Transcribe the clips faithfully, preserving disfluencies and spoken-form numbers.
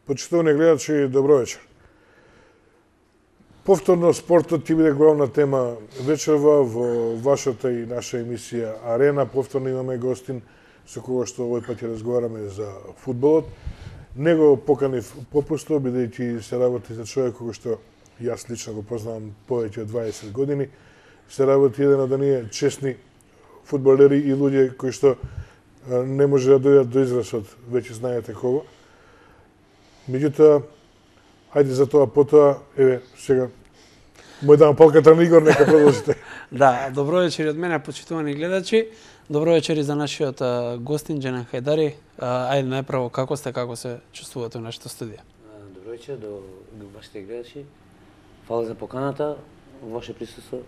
Почитувани гледачи, добро вечер. Повторно спортот ќе биде главна тема вечерва во вашата и наша емисија Арена. Повторно имаме гостин со кого што овој пат ќе разговараме за фудбалот. Него поканив попусто, бидејќи се работи за човек кој што јас лично го познавам повеќе од дваесет години. Се работи еден од оние честни фудбалери и луѓе кои што не може да дојдат до израз од веќе знаете кого. Меѓутоа, ајде за тоа потоа, еве, сега, мој дам палката на Игор, нека продолжите. Да, добро вечер од мене, почитувани гледачи. Добро вечер и за нашиот гостин, Џенан Хајдари. Ајде, најпрво, како сте, како се чувствувате во нашата студија? Добро вечер до вашите гледачи. Фала за поканата, во ваше присуство.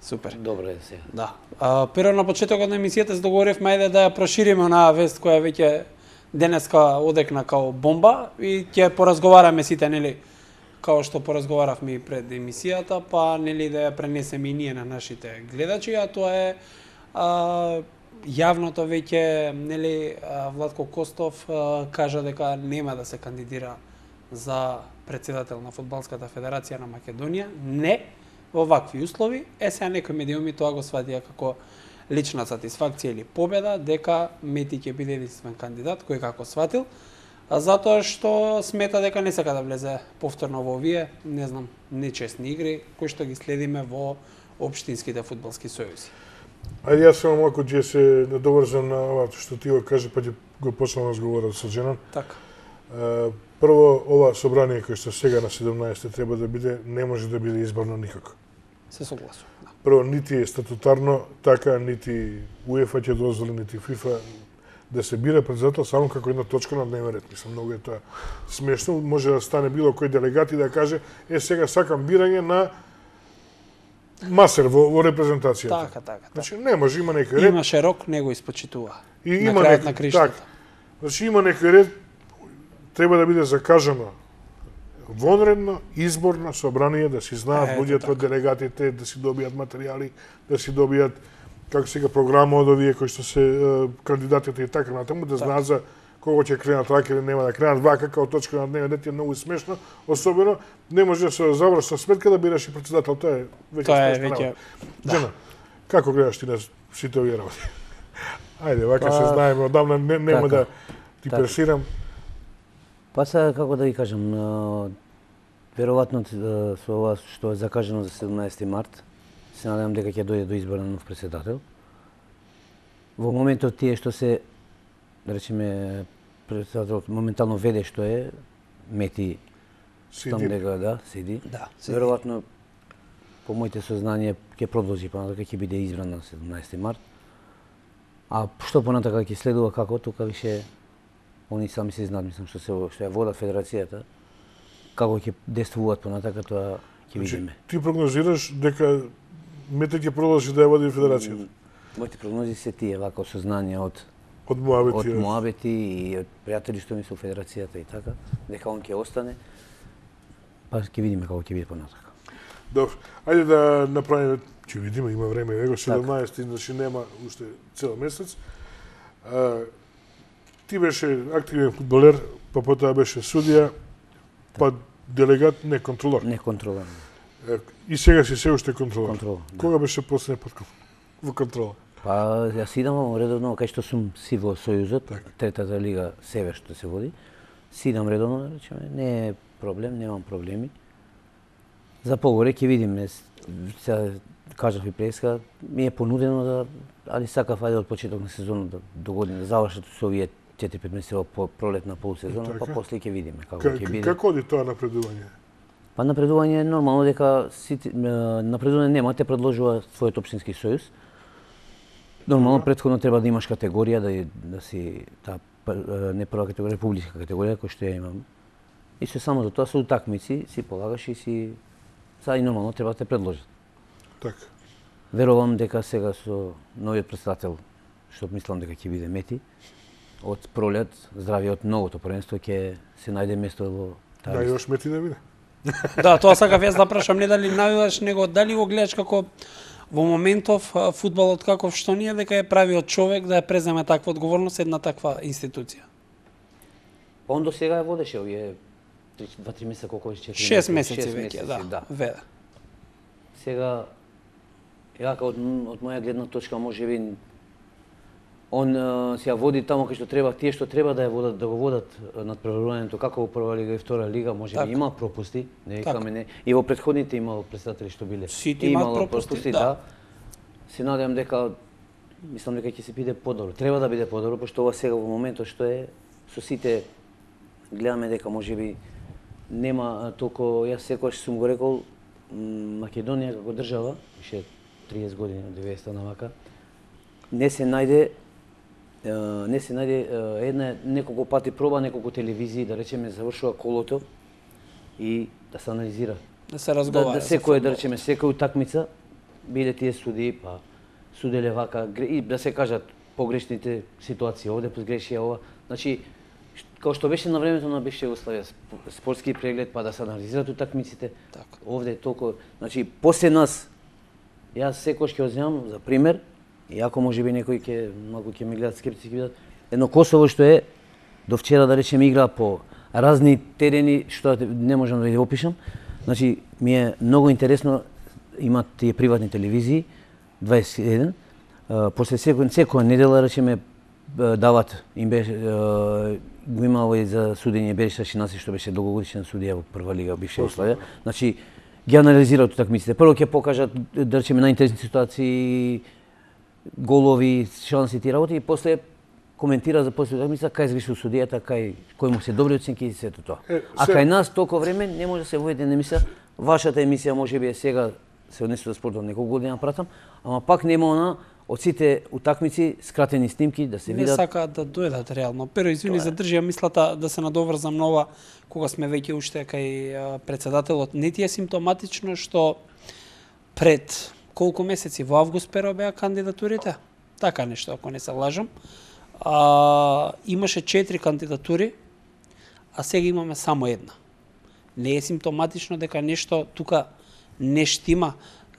Супер. Добро е сега. Да. А, прво на почетокот на емисијата се договоривме ајде да ја прошириме онаа вест која веќе денеска одекна као бомба и ќе поразговараме сите, нели, као што поразговаравме и пред емисијата, па нели да ја пренесеме и ние на нашите гледачи, а тоа е а, јавното веќе, нели, Владко Костов а, кажа дека нема да се кандидира за претседател на Фудбалската федерација на Македонија, не во вакви услови. Е, сега некои медиуми тоа го сватија како лична сатисфакција или победа, дека Мети ќе биде единствен кандидат, кој како сватил, а затоа што смета дека не сака да влезе повторно во овие, не знам, нечестни игри, кои што ги следиме во општинските фудбалски сојузи. Ајде, јас само малку ќе се надоврзам на ова што ти го кажа, па ќе го почнам разговорот со Џенан. Така. Прво, ова собрание кој што сега на седумнаесет треба да биде, не може да биде избрано никако. Се согласувам. Да. Прво, нити е статутарно така, нити УЕФА ќе дозволи, нити ФИФА да се бира председател само како една точка на дневен ред. Мислам, многу е тоа смешно. Може да стане било кој делегат и да каже, е, сега сакам бирање на масер во, во репрезентацијата. Така, така. Значи, не може, има некој ред. Имаше рок, него испочитува. И на има крајот некој, на криштата. така. Значи, има некој ред, треба да биде закажано вонредно, изборно собрание, да си знаат Е, луѓето, така. делегатите, да си добијат материјали, да си добијат, како сега, програма од овие кои што се е, кандидатите и така натаму, да знаат за кого ќе кренат вака или нема да кренат вака, као точка на дневен ред е многу смешно, особено не може да се заврши сметка да бираш и председател, тоа е веќе Тоа е смешно. веќе. Џена, како гледаш ти на сите овие работи? Ајде, вака Па, се знаеме, одамна не, нема така, да ти така. пресирам. Па сега, како да ви кажам, а, веројатно а, со ова што е закажано за седумнаесети март, се надевам дека ќе дојде до избор на нов претседател. Во моментот тие што се, да речеме, претседателот моментално веде што е, Мети, штом Сиди. дека да, сиди. Да, Веројатно, по моите сознанија, ќе продолжи понатака, ќе биде избран на седумнаесети март. А што понатака ќе следува како, тука више они сами се знаат, мислам, што се што ја водат федерацијата, како ќе действуваат понатака, тоа ќе видиме. Ти прогнозираш дека Мете ќе продолжи да ја води федерацијата? Моите прогнози се тие, вака сознанија од Од Моабети. од Моабети и од пријатели што ми се у федерацијата и така, дека он ќе остане. Па ќе видиме како ќе биде понатака. Добро. Ајде да направиме, ќе видиме, има време, него Така. седумнаесети, значи нема уште цел месец. А, ти беше активен фудбалер, па потоа беше судија, па делегат, не контролор. Не контролирам. Е, И сега си се уште контролор. Контрол. Да. Кога беше последен пат во контрола? Па јас идам редовно, кај што сум си во Сојузот, Така. третата лига Север што се води. Си идам редовно, да речеме, не е проблем, немам проблеми. За погоре ќе видиме. Сега кажав и преска, ми е понудено да, али сакав ајде од почеток на сезонот да до година да завршат со овие четири-пет месеци во пролетна полусезона, Така. па после ќе видиме како Ка- ќе биде. Како оди тоа напредување? Па напредување е нормално дека сите, е, напредување нема, те предложува својот општински сојуз. Нормално претходно треба да имаш категорија, да, да си таа пр- е, не прва категорија, републичка категорија која што ја имам. И се само за тоа се утакмици, си полагаш и си сега и нормално треба да те предложат. Така. Верувам дека сега со новиот претседател, што мислам дека ќе биде Мети, од пролет, здравје од новото првенство ќе се најде место во таа Да, листа. још Мети да биде. Да, тоа сакав јас да прашам, не дали навиваш, него дали го гледаш како во моментов а, фудбалот каков што ние, дека е правиот човек да ја преземе таква одговорност една таква институција. Он до сега ја водеше овие два-три месеца, колку беше четири шест месеци веќе, да. да. Веде. Сега, јака од, од моја гледна точка, може би, он се ја води таму кај што треба, тие што треба да ја водат, да го водат надпреварувањето, како во прва лига и втора лига, може би има пропусти, не викаме не. И во претходните имало претседатели што биле. Сите имаат пропусти, пропусти, да. Се надевам дека, мислам дека ќе се биде подобро. Треба да биде подобро, пошто ова сега во моментот што е, со сите гледаме дека може би нема толку, јас секогаш сум го рекол, Македонија како држава, више триесет години од деветдесета навака, не се најде не се најде една неколку пати проба, неколку телевизии, да речеме, завршува колото и да се анализира. Да се разговара. Да, да секој, да речеме, секој утакмица биле тие судии, па суделе вака, и да се кажат погрешните ситуации, овде погрешија ова. Значи, како што беше на времето на бивша Југославија, спортски преглед, па да се анализираат утакмиците. Така. Овде е толку, значи, после нас, јас секој ќе одземам за пример, иако може би некои ќе малку ќе ме гледат скептици, ќе видат едно Косово што е до вчера, да речеме, игра по разни терени што не можам да ги опишам. Значи, ми е многу интересно, имат тие приватни телевизии дваесет и еден, после секој секоја недела, речеме, дават им беше го имало и за судење Бериша Шинаси, што беше долгогодишен судија во прва лига бивша Југославија. Значи, ги анализираат утакмиците. Прво ќе покажат, да речеме, најинтересни ситуации, голови, шанси и работи, и после коментира за после утакмица кај сгрешил судијата, кај кој му се добри оценки и сето тоа. Е, а кај нас толку време не може да се води емисија. Вашата емисија можеби е сега се однесува за спортот неколку години пратам, ама пак нема она од сите утакмици скратени снимки да се видат. Не сакаат да дојдат реално. Pero извини, задржија мислата да се надоврзам на ова кога сме веќе уште кај претседателот. Не ти е симптоматично што пред колку месеци во август перо беа кандидатурите? Така нешто, ако не се лажам. А, имаше четири кандидатури, а сега имаме само една. Не е симптоматично дека нешто тука не штима.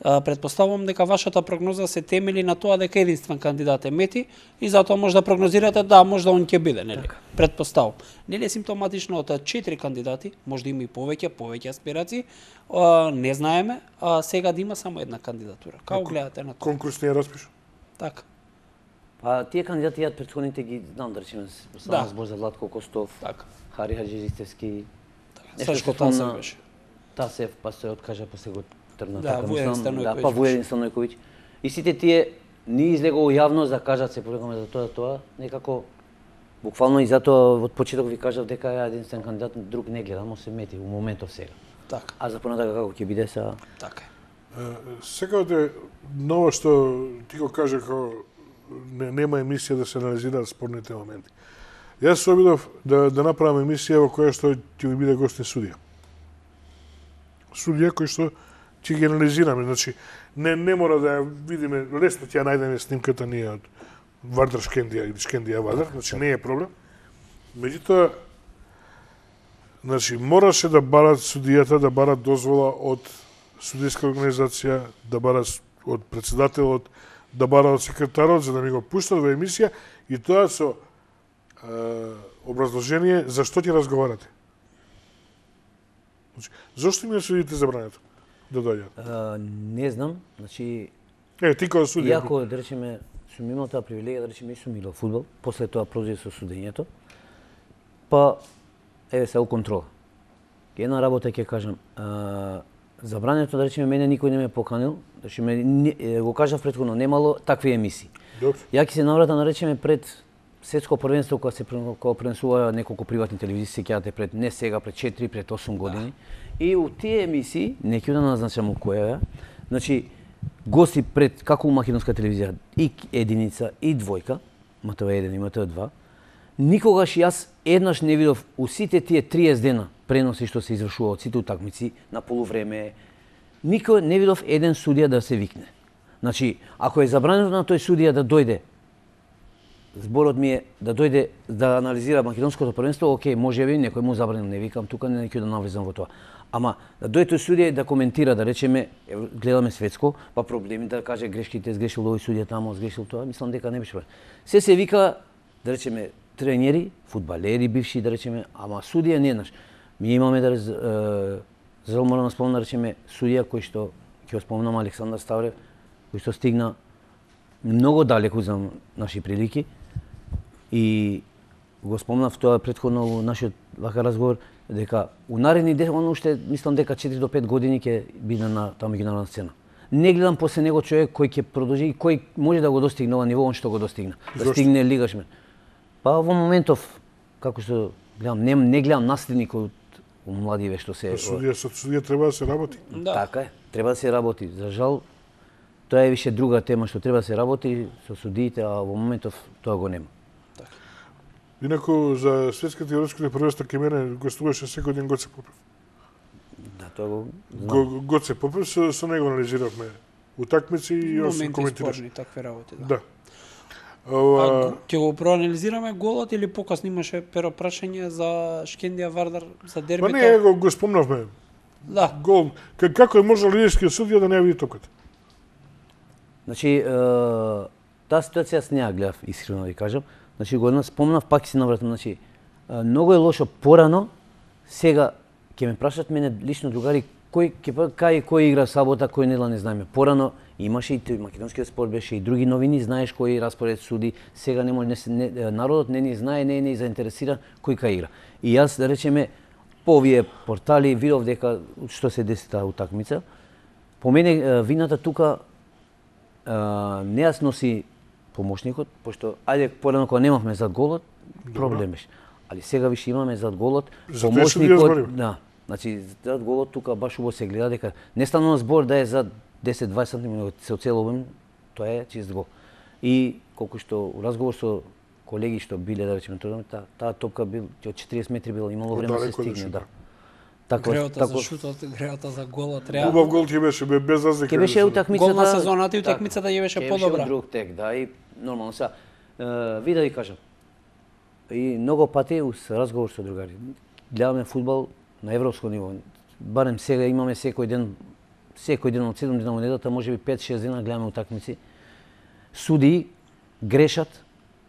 Предпоставувам дека вашата прогноза се темели на тоа дека единствен кандидат е Мети и затоа може да прогнозирате да може да он ќе биде, нели? Предпоставувам. Нели е симптоматично од четири кандидати, може да има и повеќе, повеќе аспирации, а, не знаеме, а сега да има само една кандидатура. Како гледате на тоа? Конкурс не е распишан. Така. Па тие кандидати јат претходните ги знам, да речеме, само да. Збор за Владко Костов, така. Хари Хаџиристевски. Така. Сашко Тасев беше. Тасев, па се откажа, па се го тргна, да, така Вуедин мислам, да, па Вуедин Станојковиќ. И сите тие не излего јавно да кажат се порекаме за тоа, тоа, некако буквално и затоа од почеток ви кажав дека ја единствен кандидат, друг не гледам, се Мети во моментов сега. Така. А за понатака како ќе биде са? Така. Секаде ново што ти го кажа како не, нема емисија да се анализираат спорните моменти. Јас се обидов да да направам емисија во која што ќе ми биде гостин судија. Судија кој што ќе ги анализираме, значи не не мора да ја видиме, лесно ќе ја најдеме снимката ние од Вардар Шкендија или Шкендија Вардар, значи не е проблем. Меѓутоа, значи мораше да барат судијата да барат дозвола од судијска организација, да барат од претседателот, да барат од секретарот за да ми го пуштат во емисија и тоа со е, образложение за што ќе разговарате. Значи, зошто ми судите забрането да дојдат? Не знам, значи Е, ти како судија. Иако да речеме сум имал таа привилегија да речеме и сум играл фудбал, после тоа продолжи со судењето. Па еве се у контрола. Една работа ќе кажам, а, забрането да речеме мене никој не ме поканил, да речеме не, го кажав претходно, немало такви емисии. Добро. Ја ќе се навратам да речеме пред светско првенство кога се кога пренесува неколку приватни телевизии, сеќавате пред не сега, пред четири, пред осум години. Да. И у тие емисии, не ќе да назначам у која, значи гости пред како у македонска телевизија и единица и двојка, М Т В еден и М Т В два, никогаш јас еднаш не видов у сите тие триесет дена преноси што се извршува од сите утакмици на полувреме, никој не видов еден судија да се викне. Значи, ако е забрането на тој судија да дојде, зборот ми е да дојде да анализира македонското првенство, окей, можеби некој му забранил, не викам тука, не ќе да навлезам во тоа. Ама да дојде тој судија да коментира, да речеме, гледаме светско, па проблеми да каже грешките, сгрешил овој судија таму, сгрешил тоа, мислам дека не беше. Се се вика, да речеме, тренери, фудбалери бивши, да речеме, ама судија не еднаш. Ми имаме да за зел морам да спомнам да речеме судија кој што ќе го спомнам Александар Ставрев, кој што стигна многу далеку за наши прилики и го спомнав тоа претходно во нашиот вака разговор дека у наредни десет, он уште мислам дека четири до пет години ќе биде на таа меѓународна сцена. Не гледам после него човек кој ќе продолжи и кој може да го достигне ова ниво он што го достигна. Да Зошто? стигне лигашмен. Па во моментов како што гледам не, не гледам наследник од младиве што се Судија со судија треба да се работи. Да. Така е, треба да се работи. За жал тоа е више друга тема што треба да се работи со судиите, а во моментов тоа го нема. Инаку за светските и европските првенства кај мене гостуваше секој ден Гоце Попев. Да, тоа го знам. Го, Гоце Попев со, со него анализиравме утакмици и јас Моменти коментираш. спорни, такви работи. Да. Да. А Ова, ќе го проанализираме голот или покасно имаше перо прашање за Шкендија Вардар за па дербито? не, го, го спомнавме. Да. Гол. К- Како е можел лидерскиот судија да не ја види токата? Значи, е, таа ситуација јас не ја гледав, искрено да ви кажам. Значи, го спомнав, пак ќе се навратам. Значи, е, многу е лошо порано, сега ќе ме прашат мене лично другари кој ќе па- кај кој игра сабота, кој недела не знаеме. Порано имаше и тој македонскиот спорт беше и други новини, знаеш кој распоред суди. Сега не може не, се- не народот не ни знае, не е не заинтересиран кој кај игра. И јас да речеме по овие портали видов дека што се деси таа утакмица. По мене е, вината тука е, не јас носи помошникот, пошто ајде порано кога немавме зад голот, проблем беше. Али сега више имаме зад голот, Затоа и се ја збориме. да. Значи зад голот тука баш убаво се гледа дека не станува збор да е за десет до дваесет сантиметри, него се оцелувам, тоа е чист гол. И колку што у разговор со колеги што биле да речеме тоа, таа таа топка бил од четириесет метри била имало време да се Далеко да стигне, шута. да. Така Греота за шутот, греота за голот, реално. Убав гол ќе беше бе- без разлика. Ке беше утакмицата. Гол на сезоната и утакмицата ќе беше ке подобра. Беше друг тек, да, и нормално сега. Е, ви да ви кажам. И многу пати ус разговор со другари. Гледаме фудбал на европско ниво. Барем сега имаме секој ден, секој ден од седум дена во неделата, можеби пет-шест дена гледаме утакмици. Суди грешат,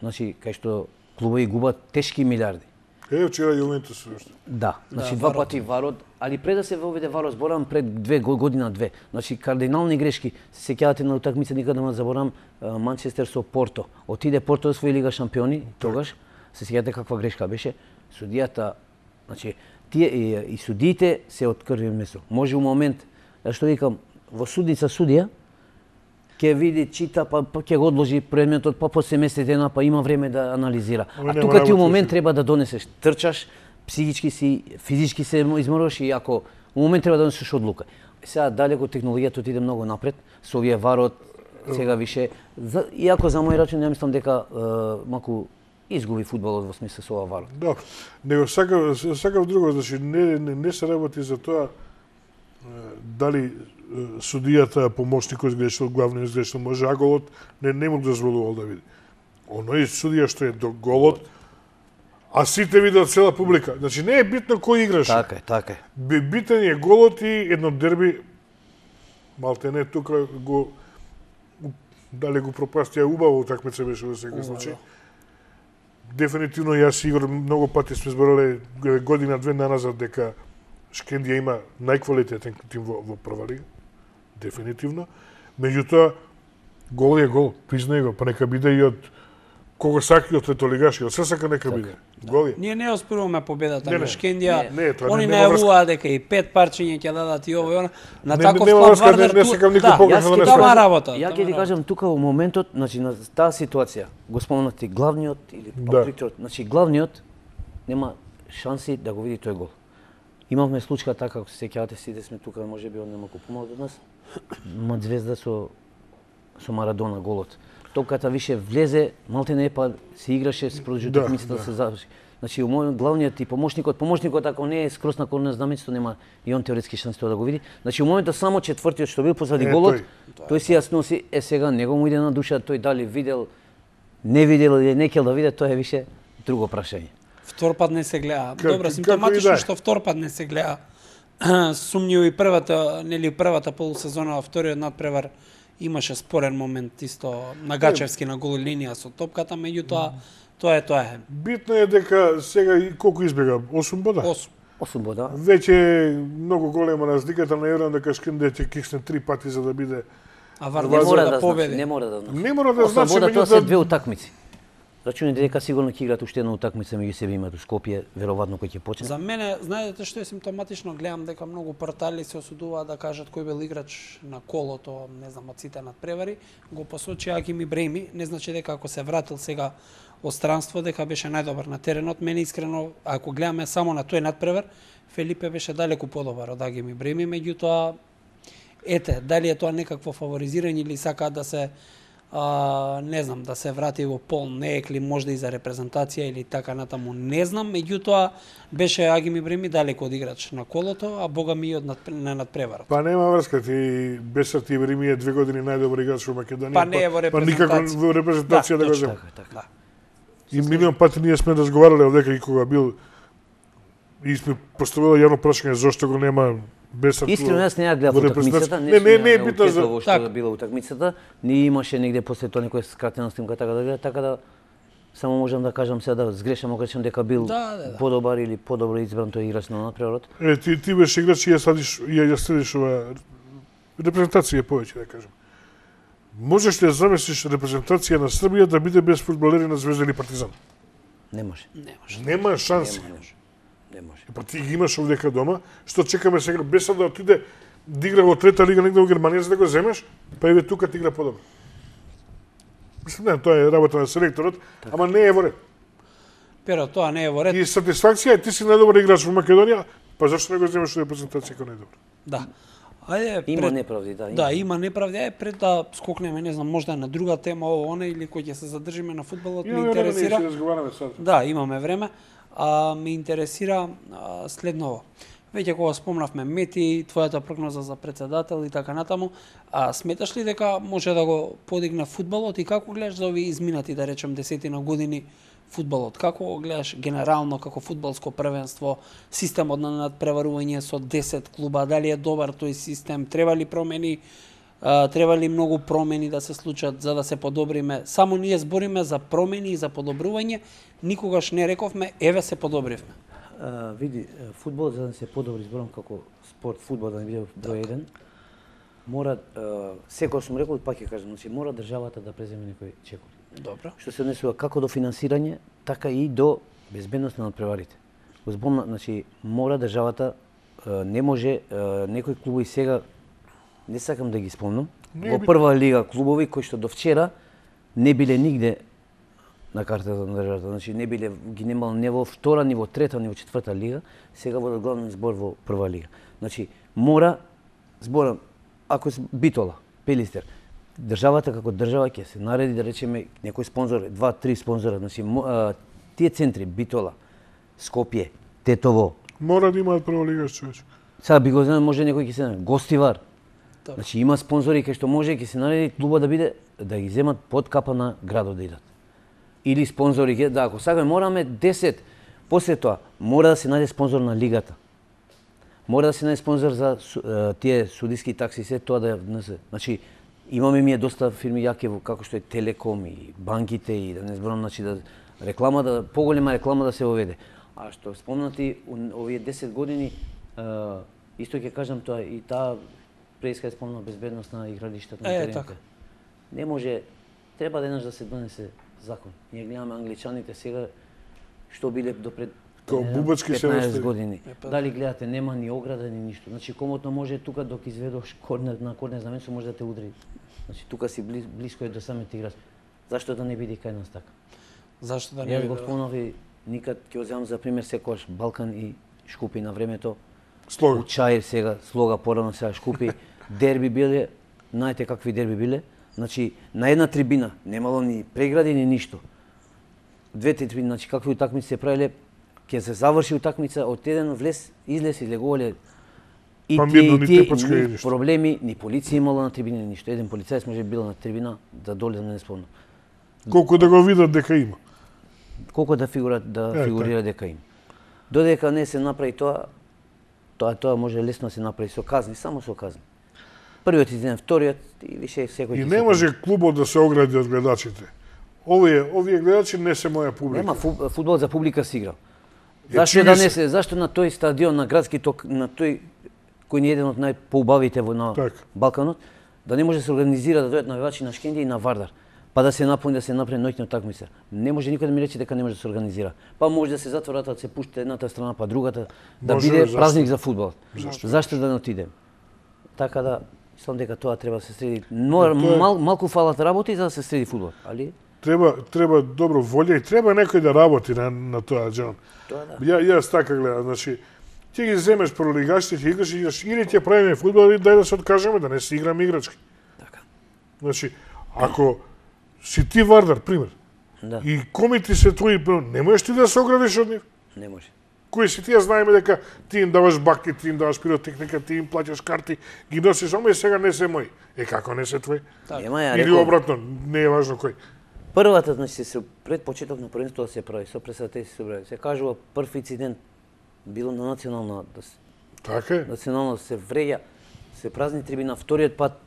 значи кај што клубови губат тешки милиарди. Е, вчера Јувентус уште. Да, значи Да, два варот. пати варот, али пред да се воведе варот, зборам пред две го- година две. Значи кардинални грешки. Се сеќавате на утакмица, никаде не заборам, Манчестер со Порто. Отиде Порто да освои Лига шампиони, тогаш се сеќавате каква грешка беше. Судијата, значи тие и, и судиите се од крви месо. Може у момент, да што викам, во судница судија ќе види, чита, па, па ќе го одложи предметот, па после месец дена, па има време да анализира. Ама А нема тука ти у работа, момент си. треба да донесеш, трчаш, психички си, физички се изморуваш и ако у момент треба да донесеш одлука. Сега далеко технологијата отиде многу напред, со овие варот, сега више, за, иако за мој рачун ја мислам дека е, малку изгуби фудбалот во смисла со ова варот. Да, него сакав, сакав друго, значи не, не, не се работи за тоа е, дали е, судијата, помошникот изгрешил, главниот изгрешил, може а голот не, не му дозволувал да види. Оној судија што е до голот, а сите видат цела публика. Значи не е битно кој играше. Така е, така е. Би- Битен е голот и едно дерби, малте не тука го, дали го пропастија убаво утакмица беше во секој случај. Дефинитивно јас и Игор многу пати сме зборале година-две наназад дека Шкендија има најквалитетен тим во, во прва лига. Дефинитивно. Меѓутоа, гол е гол, признај го, па нека биде и од кого сака и од летолигаши, од се сака нека биде. Гол е. Ние не оспоруваме победата Не, на не. Шкендија. Не, не, тоа Они нема врска. најавуваат дека и пет парчиња ќе дадат и ово и оно. На Не, таков нема клуб врска, не- Вардар не ту- сакам никој да, погрешно јас да ќе не тоа сваќам. работа. Ја тоа ќе ти ма кажам тука во моментот, значи на таа ситуација, го спомнати главниот или Да. да. значи главниот нема шанси да го види тој гол. Имавме случка така, како се сеќавате, сите сме тука, можеби он немако помалку од нас. Мадзвезда со со Марадона голот. Топката више влезе, малте не па се играше, се продолжи Да, утакмицата да. да се заврши. Значи у мојот главниот и помошникот, помошникот ако не е скрос на корнер знамето, нема и он теоретски шанси тоа да го види. Значи у моментот само четвртиот што бил позади Е, голот, тој. тој си ја сноси, е сега него му иде на душа, тој дали видел, не видел или не кел да виде, тоа е више друго прашање. Втор пат не се гледа. Как- Добро, како симптоматично и да е. што втор пат не се гледа. Сумњиво и првата, нели првата полусезона, во вториот надпревар имаше спорен момент исто на Гачевски на гол линија со топката, меѓутоа тоа е тоа е. Битно е дека сега и колку избега? осум бода? осум. Освобода. Веќе е многу голема разликата, не верувам дека Шкринде ќе кисне три пати за да биде. А Не Вардар мора да да победи. значи, не мора да значи. Не мора да значи, Освобода тоа се меѓутоа две утакмици. Рачуни дека сигурно ќе играат уште една утакмица меѓу себе имаат у Скопје, веројатно кој ќе почне. За мене, знаете што е симптоматично, гледам дека многу портали се осудуваат да кажат кој бил играч на колото, не знам, од сите надпревари, го посочи Агим Ибраими, не значи дека ако се вратил сега од странство дека беше најдобар на теренот. Мене искрено, ако гледаме само на тој надпревар, Фелипе беше далеку подобар од Агим Ибраими, меѓутоа ете, дали е тоа некакво фаворизирање или сакаат да се а, не знам, да се врати во пол неекли можда и за репрезентација или така натаму, не знам, меѓутоа беше Агим Ибраими далеку од играч на колото, а бога ми и од надпре, на надпреварот. Па нема врска, ти Бесарт Ибраими е две години најдобар играч во Македонија. Па не е во Па никако репрезентација. во репрезентација да, го точно. зема. Така, така. Да. И милион пати ние сме разговарале одека и кога бил и сме поставиле јавно прашање зошто го нема Бесарт. Искрено јас не ја гледав во утакмицата, репрезентација. Не, не, не е сум ја битно за учествувал во што Така. била утакмицата, не имаше негде после тоа некоја скратена снимка така да гледа, така да само можам да кажам сега да сгрешам, ако речем дека бил Да, да, да. подобар или подобро избран тој играч на надпреварот. Е, ти ти беше играч и ја садиш и ја следиш ова репрезентација повеќе да кажам. Можеш ли да замислиш репрезентација на Србија да биде без фудбалери на Звезда или Партизан? Не може. Не може. Нема шанси. Не може. Не може. Па ти ги имаш овдека дома, што чекаме сега Бесарт да отиде да игра во трета лига негде во Германија за да го земеш, па еве тука ти игра подобро. Мислам, не, тоа е работа на селекторот, ама не е во ред. Pero тоа не е во ред. И сатисфакција е ти си најдобар играч во Македонија, па зашто не го земеш во репрезентација како најдобар? Да. Ајде, Има пред... неправди, да. Да, има неправди. Е, пред да скокнеме, не знам, можда на друга тема, ово, она, или кој ќе се задржиме на фудбалот, ме Имаме време, ние интересира. ќе разговараме сад. Да, имаме време. А, ме интересира а, следново. Веќе кога спомнавме Мети, твојата прогноза за председател и така натаму, а сметаш ли дека може да го подигне фудбалот и како гледаш за овие изминати, да речем, десетина години фудбалот? Како го гледаш генерално како фудбалско првенство, системот на надпреварување со десет клуба, дали е добар тој систем, треба ли промени, а, треба ли многу промени да се случат за да се подобриме? Само ние збориме за промени и за подобрување, никогаш не рековме еве се подобривме. А, види, фудбал за да се подобри, зборам како спорт, фудбал да не биде број еден, мора, секој сум рекол, пак ќе кажам, значи мора државата да преземе некои чекори. Добро. Што се однесува како до финансирање, така и до безбедност на надпреварите. Го збомна, значи мора државата, не може некои клубови сега, не сакам да ги спомнам, Не во би- прва лига клубови кои што до вчера не биле нигде на картата на државата, значи не биле ги немало не во втора, ни во трета, ни во четврта лига, сега водат главен збор во прва лига. Значи мора зборам ако се Битола, Пелистер, државата како држава ќе се нареди да речеме некој спонзор, два, три спонзора, значи мо- а, тие центри Битола, Скопје, Тетово, Мора да имаат прва лига, човече. сега би го знам може некој ќе се нареди, Гостивар. Добро. Значи има спонзори кај што може ќе се нареди клуба да биде да ги земат под капа на градот да идат. Или спонзори ќе да ако сакаме мораме десет. После тоа мора да се најде спонзор на лигата. Мора да се најде спонзор за су- е, тие судиски такси се тоа да ја внесе. Значи имаме ние доста фирми јаки во- како што е Телеком и банките и да не зборам значи да реклама да поголема реклама да се воведе. А што спомнати у- овие десет години е, исто ќе кажам тоа и таа преиска е спомна безбедност на игралиштата на Е, терените. така. Не може, треба еднаш да се донесе закон. Ние гледаме англичаните сега што биле допред Као не знам, бубачки се петнаесет остави. години. Е, па Дали гледате нема ни ограда ни ништо. Значи комотно може тука док изведош корнер на корнер знаменцо може да те удри. Значи тука си близ, близко е до самите играч. Зашто да не биде кај нас така? Зашто да не Јас биде? го спомнав и никад ќе го земам за пример секогаш Балкан и Шкупи на времето. Слога. У Чаир сега, Слога порано сега Шкупи, дерби биле, знаете какви дерби биле? Значи, на една трибина, немало ни прегради, ни ништо. Двете трибини, значи какви утакмици се правиле, ќе се заврши утакмица, од еден влез, излез и легувале. И Па тие, мирно, и ни тие, тепачка и ни ништо. проблеми, ни полиција имала на трибина, ни ништо. Еден полицаец може би бил на трибина, да доле, да не спомнам. Колку да го видат дека има. Колку да фигура да Е, фигурира дека има. Додека не се направи тоа, тоа тоа може лесно да се направи со казни, само со казни. Првиот изиден, вториот и више секој И ќе не се може клубот да се огради од гледачите. Овие, овие гледачи не се моја публика. Нема фу- фудбал за публика се игра. Зашто да не се, зашто на тој стадион, на градски ток, на тој кој не е еден од најпоубавите во на Так. Балканот, да не може да се организира да дојдат навивачи на Шкендија и на Вардар, па да се напуни, да се направи ноќна такмица. Не може никој да ми рече дека не може да се организира. Па може да се затворат, да се пушти едната страна па другата, да Може, биде зашто? празник за фудбал. Зашто? Зашто да не отидем? Така да, мислам дека тоа треба да се среди. Но, Тоа е- мал, малку фалат работи за да се среди фудбал, али Треба треба добро волја и треба некој да работи на на тоа, Џан. тоа да. Ја јас така гледам, значи ти ги земеш пролигачите, ќе играш и играш, или ќе правиме фудбал или дај да се откажеме да не си играме играчки. Така. Значи, ако си ти Вардар, пример, Да, и комити се твои, не можеш ти да се оградиш од нив. не може. Кои си ти, ја знаеме дека ти им даваш баки, ти им даваш пиротехника, ти им плаќаш карти, ги носиш, ама и сега не се мои. Е, како не се твои? Така. Нема ја Или реков, обратно, не е важно кој. првата, значи, се пред почеток на првенството да се прави, со пресадите се собрави. Се кажува прв инцидент било на национална, да се, Така е. национално се вреѓа, се празни трибина, вториот пат,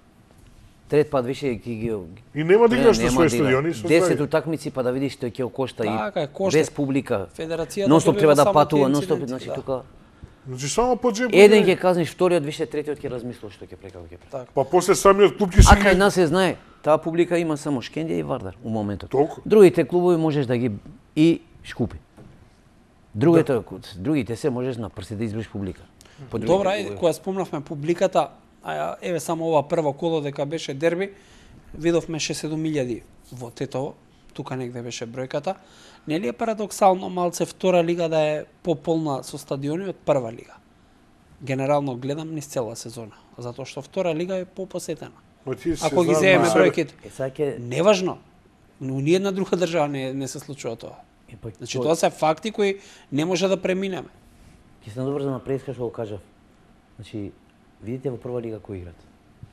трет пат више ги ги И нема да играш на нема своји да игра. стадиони, со десет тоа. утакмици па да видиш што ќе кошта Така е, и кошта. без публика. Федерацијата Нонстоп добива треба да само патува, тие нонстоп, инциденти, значи да. тука Значи само по джеб. еден ќе казниш, вториот више, третиот ќе размислува што ќе прави, како ќе прави. Така. Па после самиот клуб ќе А си кај ги... нас се знае, таа публика има само Шкендија и Вардар у моментот. Толку. Другите клубови можеш да ги и Шкупи. Другите другите се можеш на прсите да изброиш публика. По другите Добра, е, клубови. кога спомнавме публиката, а ја, еве само ова прво коло дека беше дерби, видовме шест седум илјади во Тетово, тука негде беше бројката. Нели е парадоксално малце втора лига да е пополна со стадиони од прва лига? Генерално гледам низ цела сезона, затоа што втора лига е попосетена. Ма ти си Ако ги знам земеме на себе. бројките, Е сега ќе неважно, но ни една друга држава не, не се случува тоа. е пак Значи тоа се факти кои не може да преминеме. ќе се надоврзам на преска што го кажав. Значи, видите во прва лига кои играт.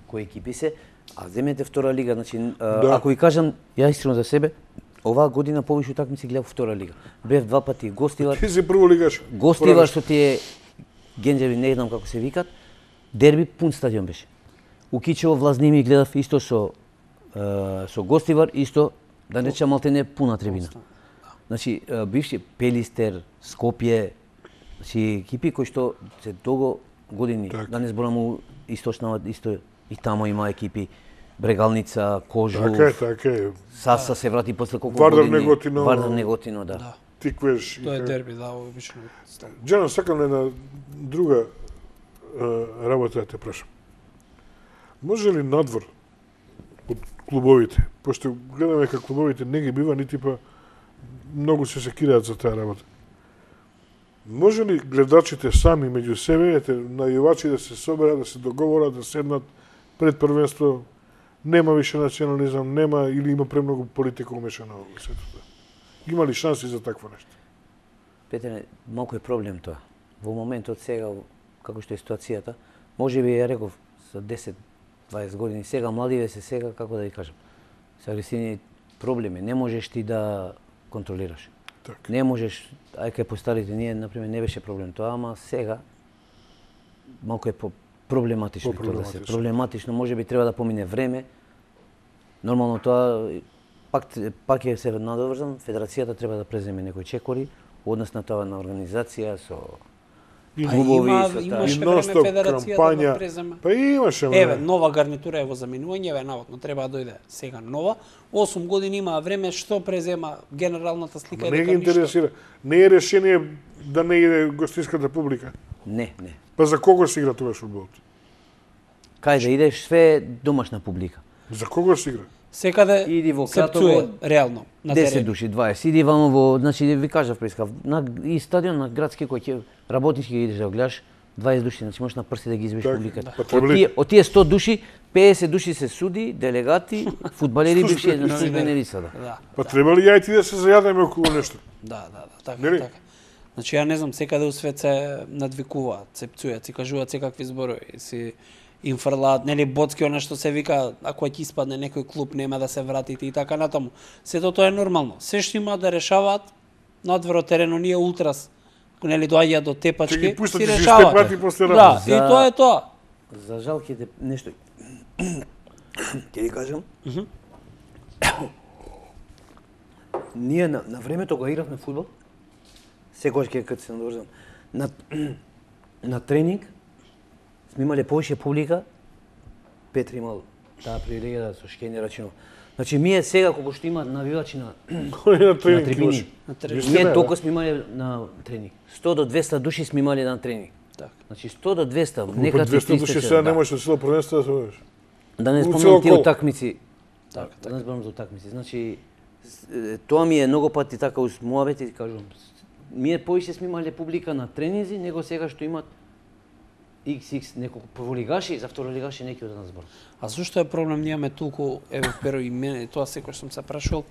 Кои екипи се, а земете втора лига, значи а, Да. ако ви кажам ја искрено за себе, оваа година повише утакмици гледав втора лига. Бев два пати гостилар, Ти си прво лигаш. гостилар што тие генџеви не знам како се викат, дерби пун стадион беше. У Кичево Влазними гледав исто со е, со гостивар, исто да не речам малте не пуна трибина. Значи е, бивши Пелистер, Скопје, значи екипи кои што се долго години, Така. да не зборам источна исто и таму има екипи Брегалница, Кожув, Така е, така е. Саса се врати после колку Вардар години. Неготино. Вардар Неготино, да. Да. Тиквеш. и Тоа е така. дерби, да, обично. Джано, сакам една друга е, работа да те прашам. Може ли надвор од клубовите, пошто гледаме како клубовите не ги бива, нити па многу се секираат за таа работа. Може ли гледачите сами меѓу себе, ете, најувачи да се соберат, да се договорат, да седнат пред првенство, нема више национализам, нема или има премногу политика умешана во сето тоа? Има ли шанси за такво нешто? Петре, малку е проблем тоа. Во моментот сега, како што е ситуацијата, може би ја реков за десет дваесет години, сега младиве се сега, како да ви кажам, се агресивни проблеми, не можеш ти да контролираш. Така. Не можеш, ај кај постарите ние, например, не беше проблем тоа, ама сега малку е по проблематично тоа да се. По-проблематично. Проблематично, може би треба да помине време. Нормално тоа пак пак е се надоврзан, федерацијата треба да преземе некои чекори однос на тоа на организација со И Па клубови, има, со таа. имаше И време нон-стоп федерацијата кампања. да преземе. Па имаше, Еве, ме. нова гарнитура е во заминување, еве наводно треба да дојде сега нова. осум години има време, што презема генералната слика Ма е не дека ги ништо. интересира. Не е решение да не иде гостинската публика. Не, не. Па за кого се игра тоа фудбалот? Кај да идеш, све е домашна публика. За кого се игра? Секаде Иди во се Кратово, пцуе, реално, на десет терен. души, дваесет. Иди вамо во, значи ви кажав прескав, на и стадион на градски кој ќе работнички ги идеш да го гледаш, дваесет души, значи можеш на прсти да ги изброиш Така, публиката. па Од треба ли- тие, од тие сто души, педесет души се суди, делегати, фудбалери бивши на Новинari. службени лица, да. Да, Па треба ли ја и ти да се зајадеме околу нешто? да, да, да, така, Нели? така. Значи ја не знам, секаде у свет се надвикуваат, се пцујат, се кажуваат секакви зборови, си им фрлаат, нели боцки она што се вика, ако ќе испадне некој клуб нема да се вратите и така натаму. Сето тоа е нормално. Се што има да решаваат надвор од теренот, ние ултрас, нели доаѓаат до Ќе тепачки, ги пуштат си и се решаваат. степат и после Да, работа. и тоа е тоа. За жал ќе те нешто ќе ви кажам. Ние на, на времето кога игравме фудбал, секогаш ќе кога се надврзам. На на тренинг сме имале повеќе публика. Петри имал таа привилегија да со Шкени рачинов. Значи ние сега кога што има навивачи на на тренинг, трибини, На тренинг. ние толку сме имале на тренинг. сто до двеста души сме имале на тренинг. Така. Значи сто до двеста, Некад некад двеста души сега не можеш цело првенство да се водиш. Да не У спомнам цело тие кол. утакмици. Така, Да не зборам за утакмици. Значи с- е, тоа ми е многу пати така уз муабети, кажувам. Ние повеќе сме имале публика на тренинзи, него сега што имат икс икс неколку прволигаши, за второлигаши неки од нас збор. А зошто е проблем ние имаме толку, еве Перо и мене, тоа секој сум се прашувал,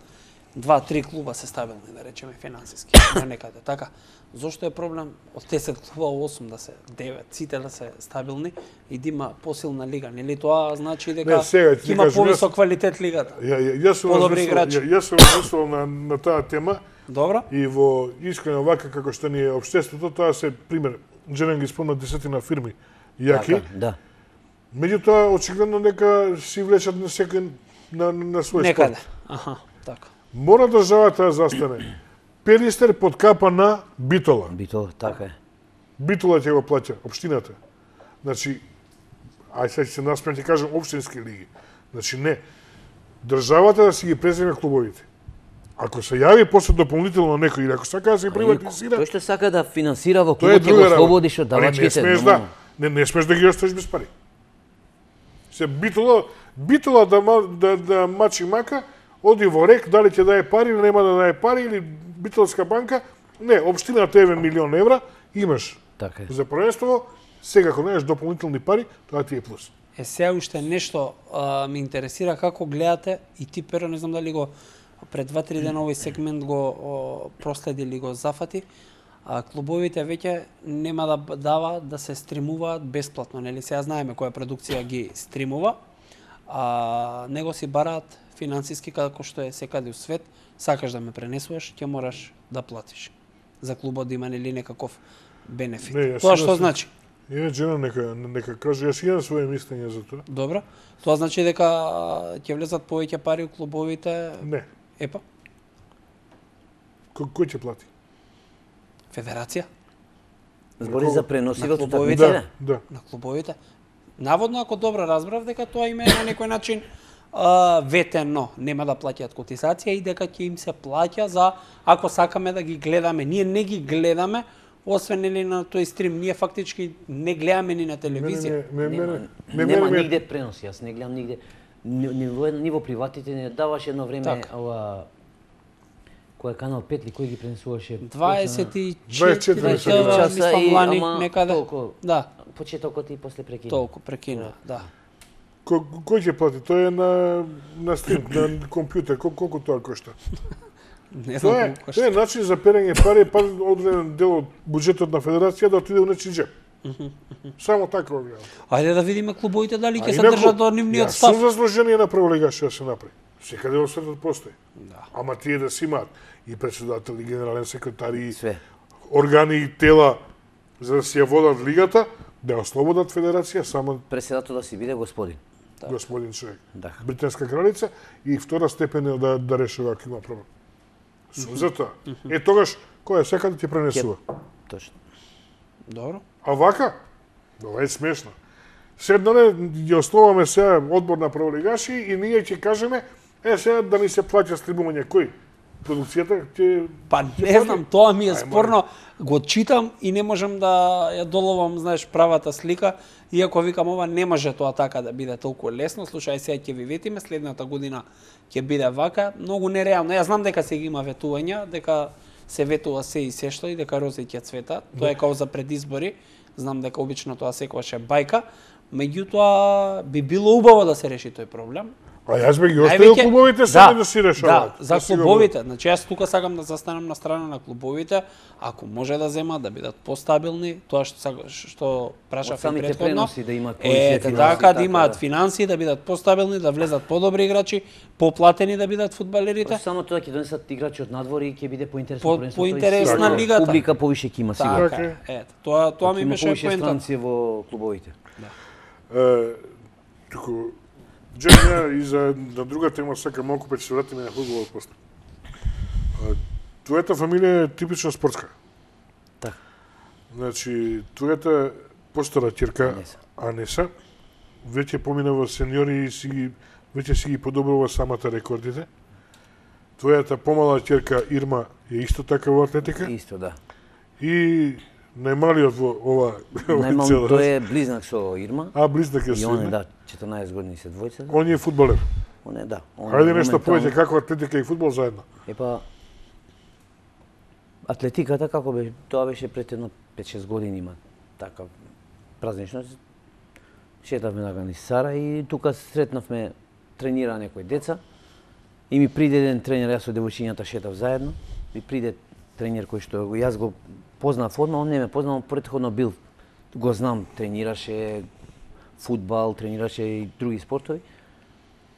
два-три клуба се стабилни, да речеме финансиски, на некаде, така. Зошто е проблем од десет клуба осум да се девет, сите да се стабилни и да има посилна лига, нели тоа значи дека Не, сега ти ќе има кажам, повисок јас- квалитет лигата. Ја, ја, јас сум Подобри размислувал- играчи. ја- Јас сум размислувал на, на таа тема Добро? и во искрено вака како што ни е општеството, тоа се пример, Джерен ги спомна десетина фирми јаки, Така, да. меѓутоа очигледно нека си влечат на секој на, на свој Некаде. спорт. Аха, така. Мора државата да застане. Перистер под капа на Битола. Бито, така е. Битола ќе го плаќа, општината. Значи, ај сега ќе се насмеам, ќе кажам општински лиги. Значи не. Државата да си ги преземе клубовите. Ако се јави после дополнително некој или ако сака да се приватизира, Тој што сака да финансира во тоа е клубот ќе друга го работа. слободиш од Али не давачките. смееш нормално. да, не, не смееш да ги оставиш без пари. Се Битола, Битола да, ма- да, да мачи мака, оди во рек, дали ќе даде пари или нема да даде пари, или Битолска банка, не, општината еве милион евра, имаш Така е. за првенство, сега кога немаш дополнителни пари, тоа ти е плюс. Е, сега уште нешто а, ме интересира како гледате и ти, Перо, не знам дали го пред два-три дена овој сегмент го о, проследи или го зафати, а клубовите веќе нема да дава да се стримуваат бесплатно, нели? Сега знаеме која продукција ги стримува, а него си бараат финансиски како што е секаде у свет, сакаш да ме пренесуваш, ќе мораш да платиш. За клубот да има нели некаков бенефит. Не, јас Тоа си што да- значи? Еве Джена нека нека каже, јас имам своје мислење за тоа. Добро. Тоа значи дека а, ќе влезат повеќе пари у клубовите. Не. Епа, Кој, кој ќе плати? федерација Збори за преноси На во клубовите? Да, утакмиците. да. на клубовите. Наводно, ако добро разбрав, дека тоа им е на некој начин а, ветено, нема да плаќаат котизација и дека ќе им се плаќа за ако сакаме да ги гледаме. Ние не ги гледаме, освен или на тој стрим, ние фактички не гледаме ни на телевизија. Мене, мене, Нема, мене, мене, нема мене, нигде преноси, јас не гледам нигде. Ни, ни, во, ни во приватите не даваше едно време Така. ова кој е канал пет ли кој ги пренесуваше дваесет и дваесет и четири четири часа, часа мислам, и лани ама некаде. толку Да, почетокот и после прекина. толку прекина, да. Кој, кој ќе плати? Тоа е на на стрим, на компјутер. Кол, колку тоа кошта? Не знам Тоа е, колку тоа кошта. е начин за перење пари, па одреден дел од буџетот на федерација да отиде у нечи джеб. Само така го гледам. Ајде да видиме клубовите дали А ќе се инаку, држат до нивниот Јас став. сум за сложение на прволигаш да се направи. Секаде во светот постои. Да. Ама тие да си имаат и председател, и генерален секретар, и Све. органи и тела за да си ја водат лигата, да ја ослободат федерација, само Преседател да си биде господин. господин човек. Да. Британска кралица и втора степен е да, да решава ако има проблем. Сум за тоа. Е тогаш, кој е секаде ти пренесува. Точно. Добро. А вака, ова е смешно. Седнале, ги основаме сега одбор на прволигаши и ние ќе кажеме, е сега да ни се плаќа стримување кој? Продукцијата ќе... Па ќе не плати? знам, тоа ми е Ај, спорно. Го читам и не можам да ја доловам, знаеш, правата слика, иако викам ова не може тоа така да биде толку лесно. Слушај, сега ќе ви ветиме, следната година ќе биде вака, многу нереално. Јас знам дека сега има ветувања, дека се ветува се и се што и дека рози ќе цвета. Тоа е као за предизбори. Знам дека обично тоа секогаш е бајка, меѓутоа би било убаво да се реши тој проблем. А јас би ги оставил Највеќе- клубовите сами да си решаваат. Да, за Да си го клубовите. Значи јас тука сакам да застанам на страна на клубовите, ако може да земат да бидат постабилни, тоа што сак- што прашав Од и самите претходно. преноси да имаат Е, повеќе финанси, така да така, имаат да. финанси, да бидат постабилни, да влезат подобри играчи, поплатени да бидат фудбалерите. Па само тоа ќе донесат играчи од надвор и ќе биде поинтересно По- првенството. поинтересна Така. лигата. Публика повише ќе има сигурно. Така, е, ето, тоа тоа ми Има беше повише поентата. странци во клубовите. Е, туку, Дженя и за на друга тема сакам малку па ќе се вратиме на фудбалот после. Е, Твојата фамилија е типично спортска. Значи, твојата постара ќерка Анеса. Анеса веќе помина во сениори и си ги веќе си ги подобрува самата рекордите. Твојата помала ќерка Ирма е исто така во атлетика Исто, да. и најмалиот во ова Најмал, цела- тој е близнак со Ирма. А близнак е И со он е, Ирма. да, четрнаесет години се двојца. Он е фудбалер. Он е, да. Он Хајде е нешто моментално- повеќе како атлетика и фудбал заедно. Епа, атлетиката како беше, тоа беше пред едно пет-шест години има така празнично. Шетавме на низ Сара и тука сретнавме тренира некои деца. И ми приде еден тренер, јас со девојчињата шетав заедно. Ми приде тренер кој што јас го познав одма, он не ме познал, претходно бил, го знам, тренираше фудбал, тренираше и други спортови.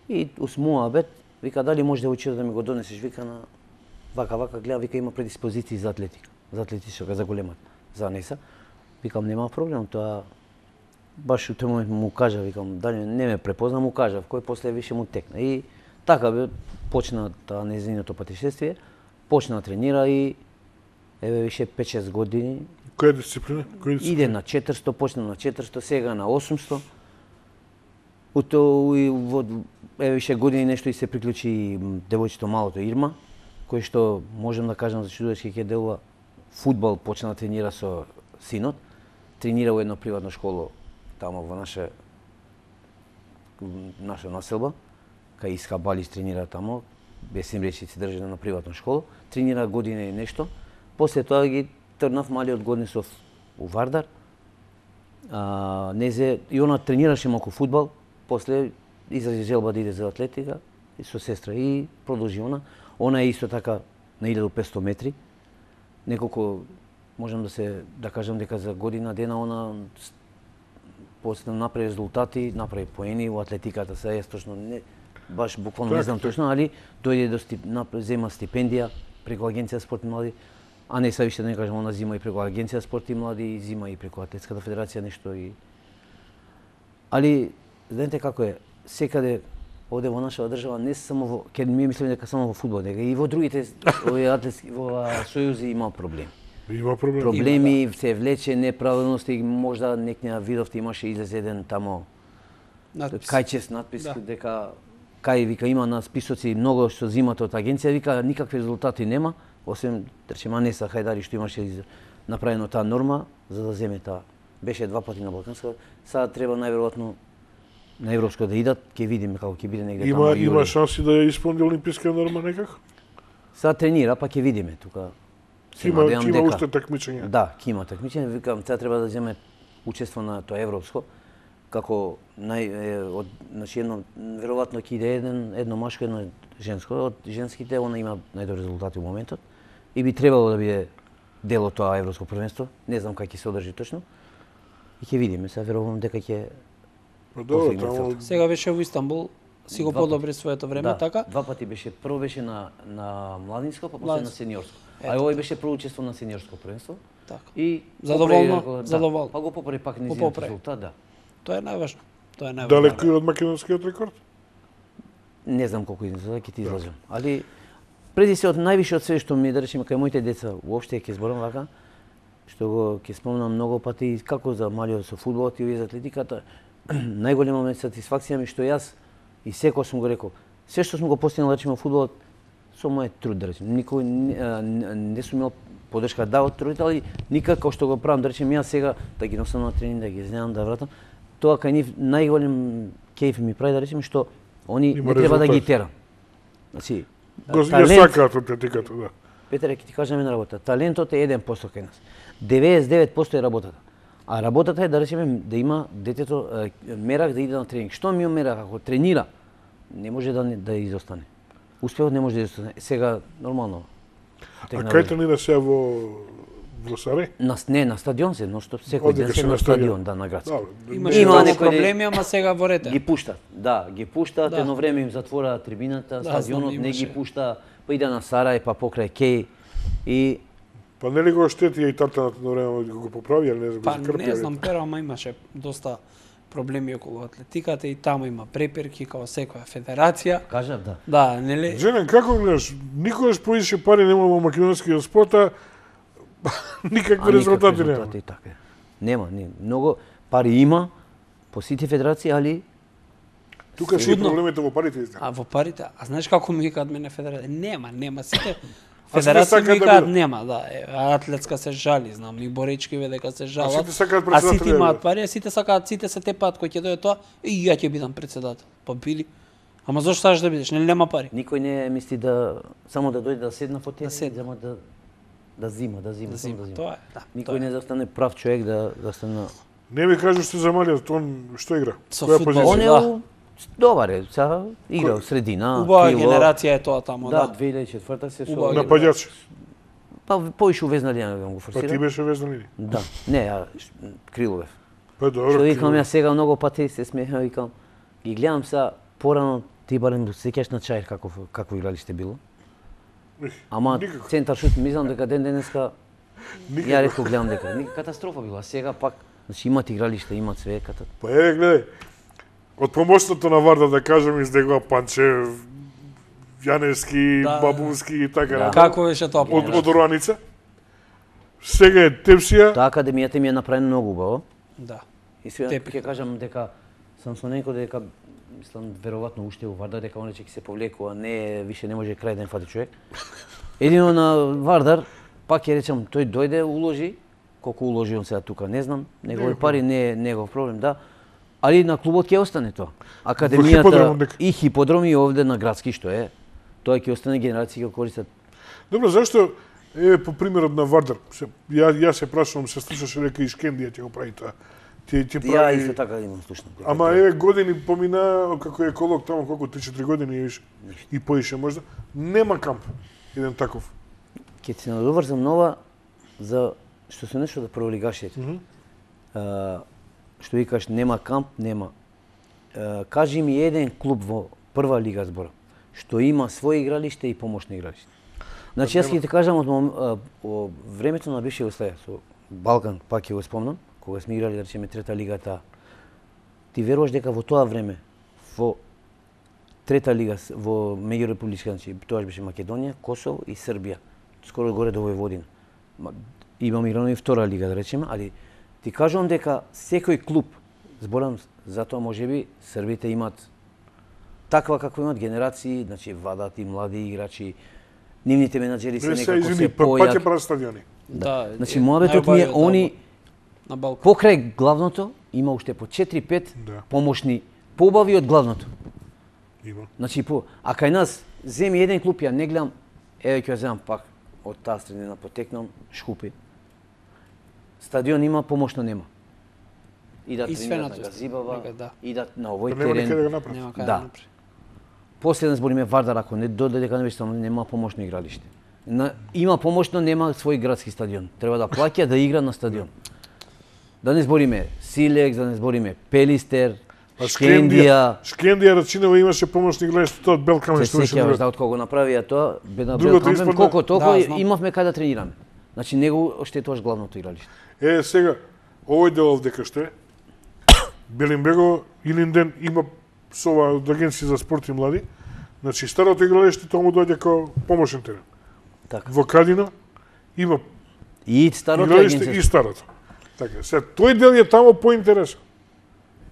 И усмува бет, вика дали може девојчето да ми го донесеш, вика на вака вака гледа, вика има предиспозиции за атлетика, за атлетичка, за големат, за Анеса. Викам нема проблем, тоа баш у тој момент му кажа, викам дали не ме препозна, му кажав, кој после више му текна. И така бе почна таа незиното патешествие, почна да тренира и еве више пет-шест години Која дисциплина? Која дисциплина? иде на четиристо, почна на четиристо, сега на осумсто. У тоа и во еве више години нешто и се приклучи и девојчето малото Ирма, кој што можем да кажам за чудовечки ќе делува фудбал, почна да тренира со синот, тренира во едно приватно школо тамо во наша наша населба, кај Иска Балис тренира тамо, без им речи се држи на приватно школо, тренира година и нешто. После тоа ги трнав малиот Горнисов у Вардар. А, незе и она тренираше малку фудбал, после изрази желба да иде за атлетика и со сестра и продолжи она. Она е исто така на илјаду и петсто метри. Неколку можам да се да кажам дека за година дена она после направи резултати, направи поени во атлетиката, се јас точно не баш буквално не знам точно, али дојде до стип, зема стипендија преку Агенција спорт и млади. А не се више да не кажам, она зима и преку Агенција спорт и млади, и зима и преку Атлетската федерација нешто и али знаете како е, секаде овде во нашава држава не само во ке ми мислиме дека само во фудбал, дека и во другите овие атлетски во сојузи има проблеми. Има проблем. Проблеми се влече неправилности, можда некоја видовте имаше излезе еден тамо Надпис. кајчест надпис Да. дека кај вика има на списоци многу што зимат од агенција, вика никакви резултати нема, освен речем Анеса Хајдари што имаше из- направено таа норма за да земе таа. Беше два пати на Балканска, сега треба најверојатно на европско да идат, ќе видиме како ќе биде негде Има тамо има јули. шанси да ја исполни олимписка норма некако? Сега тренира, па ќе видиме тука. Се Има надевам има дека- уште такмичења. Да, ќе има такмичење, викам, сега треба да земе учество на тоа европско, како нај е, од значи едно веројатно ќе иде еден едно машко, едно женско, од женските она има најдобри резултати во моментот и би требало да биде дел од тоа европско првенство, не знам како ќе се одржи точно. И ќе видиме, сега верувам дека ќе Па добро, постигне таму целта. Сега беше во Истанбул, си го Два подобри своето време, да, така? Два пати беше, прво беше на на младинско, па после на Младинско. сениорско. А Ето. овој беше прво учество на сениорско првенство. Така. И Задоволно? поправи, Задоволно. Да, па го поправи пак низиот поправи. резултат, да. Тоа е најважно. Тоа е најважно. далеку и од македонскиот рекорд. Не знам колку излеза, ќе ти излажам. Али преди се од највише од све што ми да речеме кај моите деца, уопште ќе зборам вака, што го ќе спомнам многу пати како за малиот со фудбалот и за атлетиката, најголема ми сатисфакција ми што јас и секој сум го рекол, се што сум го постигнал да речеме во фудбалот со мојот труд да речеме. Никој не, а, не, не сум имал подршка да од родители, никако што го правам да речеме јас сега да ги носам на тренинг, да ги знам да вратам. Тоа кај нив најголем кејф ми прави да речеме што они Има не треба да ги резултат. терам. Значи, Го ја талент, сакаат атлетиката, да. Петре, ќе ти кажам една работа. Талентот е еден посто кај нас. деветдесет и девет посто е работата. А работата е да речеме да има детето е, мерак да иде на тренинг. Што ми мерак ако тренира, не може да не- да изостане. Успеот не може да изостане. Сега нормално. А технологија. кај тренира се во во Сарај? На не на стадион се, но што секој Одека ден се се на на стадион. стадион, да, на градски. Да, Имаше Има многу некои- проблеми, ама сега во ред е. Ги пуштат, да, ги пуштат, Да. едно време им затвора трибината, Да, стадионот знам, не ги имаше. пушта, па иде на Сарај, па покрај Кеј и Па нели го штети и татаната на време да го поправи, или не знам, Па го закрпи, не знам, pero ама имаше доста проблеми околу атлетиката и таму има препирки како секоја федерација. кажав да. Да, нели? Женен, како гледаш? Никогаш повише пари нема во македонскиот спорт, а Никакви резултати нема. Резултати така. Нема, не. Многу пари има по сите федерации, али Тука се проблемите во парите изна. А во парите, а знаеш како ми викаат мене федерација? Нема, нема сите. А сите Федерација сакаат ми да викаат бидат. нема, да. Е, атлетска се жали, знам, и боречки дека се жалат. сите сакаат А сите председатели да имаат бидат. пари, а сите сакаат, сите се тепаат кој ќе дојде тоа и ја ќе бидам председател. Па били. Ама зошто сакаш да бидеш? Нели нема пари? никој не мисли да само да дојде да седне по Да тема, седне. само да да зима, да зима, Да само зима. да зима. Тоа е, да. Никој тоа е. не застане прав човек да да стане. Не ми кажеш што за малиот, он што игра? Со Која фудбал. позиција? Он е Да. у- добар е, сега игра у средина, Убава крило. генерација е тоа тамо, Да, да. две илјади и четврта се со Убава Напаѓач. па поише увезна линија да го Па ти форсира. беше везна линија. Да, не, ја ш- Криловев. Па добро. Што викам ти- ја сега многу пати се смеха, викам, ги гледам са порано ти барем да се сеќаш на Чаир каков какво игралиште било. Ех, Ама никако. центар шут мислам дека ден денеска Никако. ја реков гледам дека ника катастрофа била. Сега пак значи имат игралиште, имат све ката. Па еве гледај. Од помоштото на Варда да кажем издегува Панчев, Јаневски, Да. Бабунски и така Да. натаму. Како беше тоа? Од од Оруаница. Сега е Тепсија. Таа академијата ми е направена многу убаво. Да. И сега Тепик. ќе кажам дека сам со некој дека мислам веројатно уште у Вардар дека он ќе се повлекува, не више не може крај да им фати човек. Едино на Вардар пак ќе речам тој дојде уложи, колку уложи он сега тука не знам, негови Негов пари не е негов проблем, да. Али на клубот ќе остане тоа. хиподромот Академијата дека. и хиподроми овде на градски што е, тоа ќе остане генерации ќе користат. Добро, зашто е по примерот на Вардар. Се, ја ја се прашувам, се слушаше дека и Шкендија ќе го прави тоа. Ти ти Ја прави. исто така имам слушнат. дека Ама тоа- еве години помина како еколог таму колку три-четири години и више. И поише можда. Нема камп. Еден таков. Ќе се надоврзам нова за што се нешто да прволигашите. Мгм. А, што викаш нема камп, нема. А, кажи ми еден клуб во прва лига збора што има своје игралиште и помошни игралиште. Значи јас ќе ти кажам од мом- а, о времето на бивша Југославија со Балкан, пак ќе го спомнам, кога сме играли да речеме трета лигата. Ти веруваш дека во тоа време во трета лига с- во меѓурепубличка, значи тоа беше Македонија, Косово и Србија, скоро горе до Војводина. Ма, имам играно и втора лига да речеме, али ти кажувам дека секој клуб, зборам затоа можеби србите имат таква како имат генерации, значи вадат и млади играчи, нивните менаџери се Не се некако извини, се па па ќе појак. прават стадиони. Да. Значи е, моабетот ми е најубавиот они на Балкан. покрај главното има уште по четири-пет Да. помошни побави од главното. Има. Значи по а кај нас земи еден клуб ја не гледам, еве ќе ја земам пак од таа средина потекнам Шкупи. Стадион има, помошно нема. Идат И тренират на свенато. Газибава, Нека, да. идат на Па овој нема никаде терен. да направат. Нема кај Да. да направи. Последен збориме Вардар, ако не дојде дека не беше само нема помошно игралиште. На, има помошно, нема свој градски стадион. Треба да плаќа да игра на стадион. Да не збориме Силекс, да не збориме Пелистер, Па Шкендија. Шкендија Рачинова имаше помошни игралиште тоа од Белкаме Се што беше сеќаваш добро. да од кого направија тоа, бе на Другото Белкампен, испадна- колку толку Да, знам. имавме кај да тренираме. Значи него оштетуваш главното игралиште. Е, сега, овој дел овде кај што е, Белинбегово, Илинден има со ова од Агенција за спорт и млади, значи старото игралиште тоа му доаѓа како помошен терен. Така. Во Кадина има И старото игралиште агенција. и старото. Така, сега тој дел е таму поинтересен.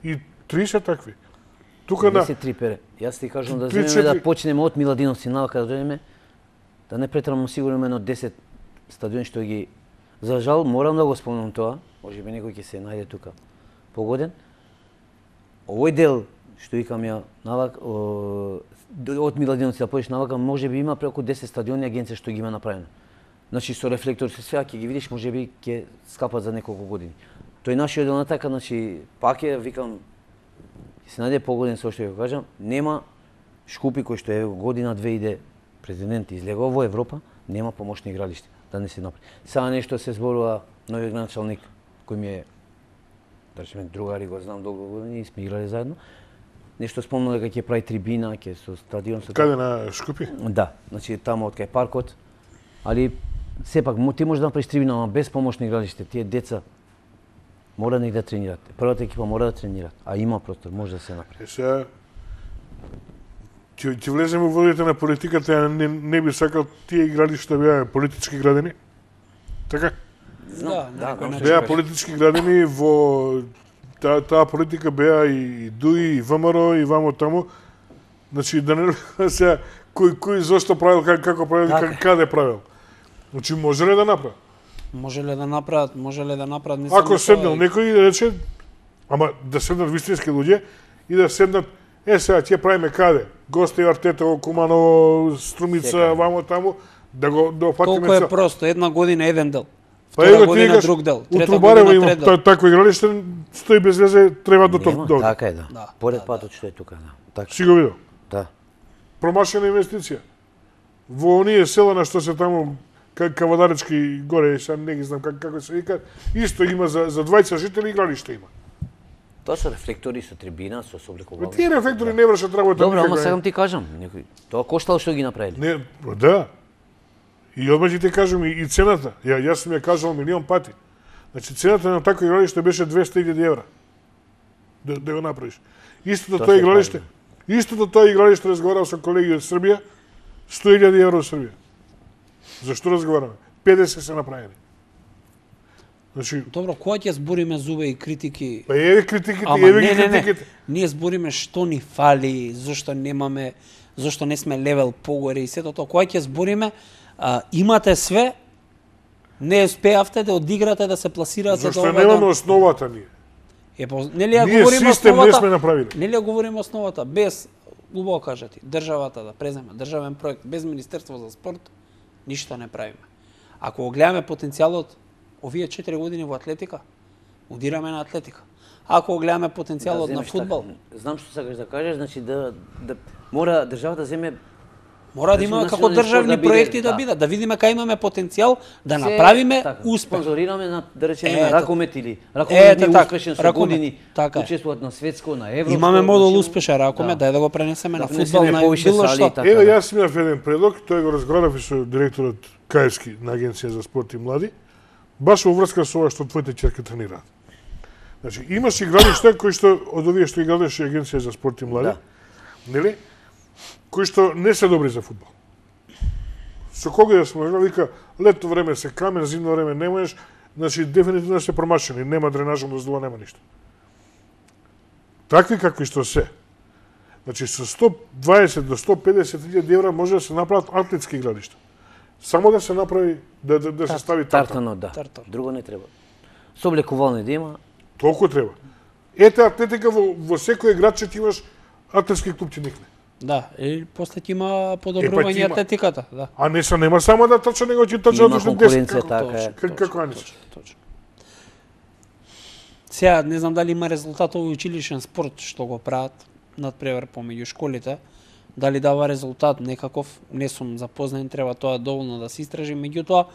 И три се такви. Тука на десет три пере. Јас ти кажувам да Три, земеме да четири. почнеме од Миладиновци навака да дојдеме, да не претрамам сигурно едно десет стадиони што ги за жал морам да го спомнам тоа, можеби некој ќе се најде тука погоден. Овој дел што викам ја навак о, од Миладиновци да појдеш навака, можеби има преку десет стадиони агенција што ги има направено. Значи со рефлектор се сега ќе ги видиш, можеби ќе скапат за неколку години. Тој нашиот дел на така, значи пак е викам ќе се најде погоден со што ќе го кажам, нема Шкупи кој што е година две иде президент излегува во Европа, нема помошни игралиште, да не се направи. Сега нешто се зборува новиот началник кој ми е да речеме другари, го знам долго години, сме играли заедно. Нешто спомнува дека ќе прави трибина, ќе со стадион со каде на Шкупи? Да, значи таму од кај паркот, али сепак мо- ти можеш да направиш трибина, ама без помошни игралиште, тие деца мора негде да тренират. Првата екипа мора да тренират, а има простор, може да се направи. Е, сега, ќе, ќе влеземе во водите на политиката, ја не, не би сакал тие игралишта да бидат политички градени? Така? Знам, Да, да, некој знам што начин. Беа кажеш. политички градини во таа таа политика беа и ДУИ, и ВМРО, и вамо таму. Значи да не се кој кој зошто правил, как, како правил, Така как, каде правил. Значи може ли да направи? Може ли да направат, може ли да направат не само Ако тоа, седнал и- некој и да рече, ама да седнат вистински луѓе и да седнат, е сега ќе правиме каде? Гости Артета, Куманово, Струмица, Секаде. вамо таму, да го да опатиме Колку е цел. просто, една година еден дел. Па Втора его ти година викаш, друг дел, у трета Трубарево година има трет дел. та- такво игралиште, стои без везе, треба до Нема, тоа. така е, да. Да, Поред да, патот што е тука, да. Така. Си го видел. Да. Промашена инвестиција. Во оние села на што се таму ка- Кавадаречки горе, сега не ги знам как, како се вика, исто има за за двајца жители игралиште има. Тоа се рефлектори со трибина, со соблекувални. Тие рефлектори не вршат работа. Добро, ама никаква. сакам ти кажам, некој тоа коштало што ги направиле. Не, да. И одма ќе ти кажам и, и цената. Ја јас сум ја кажал милион пати. Значи цената на такво игралиште беше двесте илјади евра. Да, да го направиш. Истото Тоа тоа се игралиште. Истото тоа игралиште разговарав со колеги од Србија, сто илјади евра од Србија. Зашто разговараме? педесет се направени. Значи, Добро, кога ќе збориме зубе и критики? па еве критиките, Ама еве не, ги не, не. критиките. Ние збориме што ни фали, зошто немаме, зошто не сме левел погоре и сето тоа. Кога ќе збориме, а, имате све, не успеавте да одиграте, да се пласирате Зашто до немаме основата ние. Е, по, нели ја Ние говориме систем не основата? сме направиле. Нели ја говориме основата? Без, убаво кажати, државата да преземе државен проект, без Министерство за спорт, ништо не правиме. Ако го гледаме потенцијалот, овие четири години во атлетика, удираме на атлетика. Ако го гледаме потенцијалот на земеш фудбал, така. Знам што сакаш да кажеш, значи да да мора државата да земе мора да има Значи, како национален спорт државни да биде, проекти да да. бидат, да видиме кај имаме потенцијал да се- направиме така, успех. Спонзорираме на да речеме Ето. на ракомет или ракомет Ето не така, успешен со ракомет, години, така е. учествуваат на светско, на европско. Имаме модул значи, успешен ракоме, да. дај да го пренесеме на Да пренесеме фудбал, на повише било сали и што. така. Еве да. јас имав еден предлог, тој го разговарав и со директорот Каевски на Агенција за спорт и млади, баш во врска со ова што твоите ќерки тренираат. Значи, имаш игралишта кои што од овие што игралеше Агенција за спорт и млади, Да. нели? Кои што не се добри за фудбал. Со кога да сме играли, вика, летно време се камен, зимно време не можеш, значи дефинитивно се промашени, нема дренажно доздува, нема ништо. Такви какви што се. Значи со сто дваесет до сто педесет илјади евра може да се направат атлетски игралишта. Само да се направи да да, да се стави тарта. Тартано, да. Тартар. Друго не треба. Соблекувални да има, Толку треба. Ете атлетика во, во секој градче ти имаш атлетски клуб ти никне. Да, и после ќе има Е, па подобрување ќе има. атлетиката, да. А не се нема само да трча, него ќе трча Има одушни конкуренција, десет. така точно, е. Како како Анис. Точно, точно. Сега, не знам дали има резултат овој училишен спорт што го прават надпревар помеѓу школите, дали дава резултат некаков, не сум запознат, треба тоа доволно да се истражи, меѓутоа,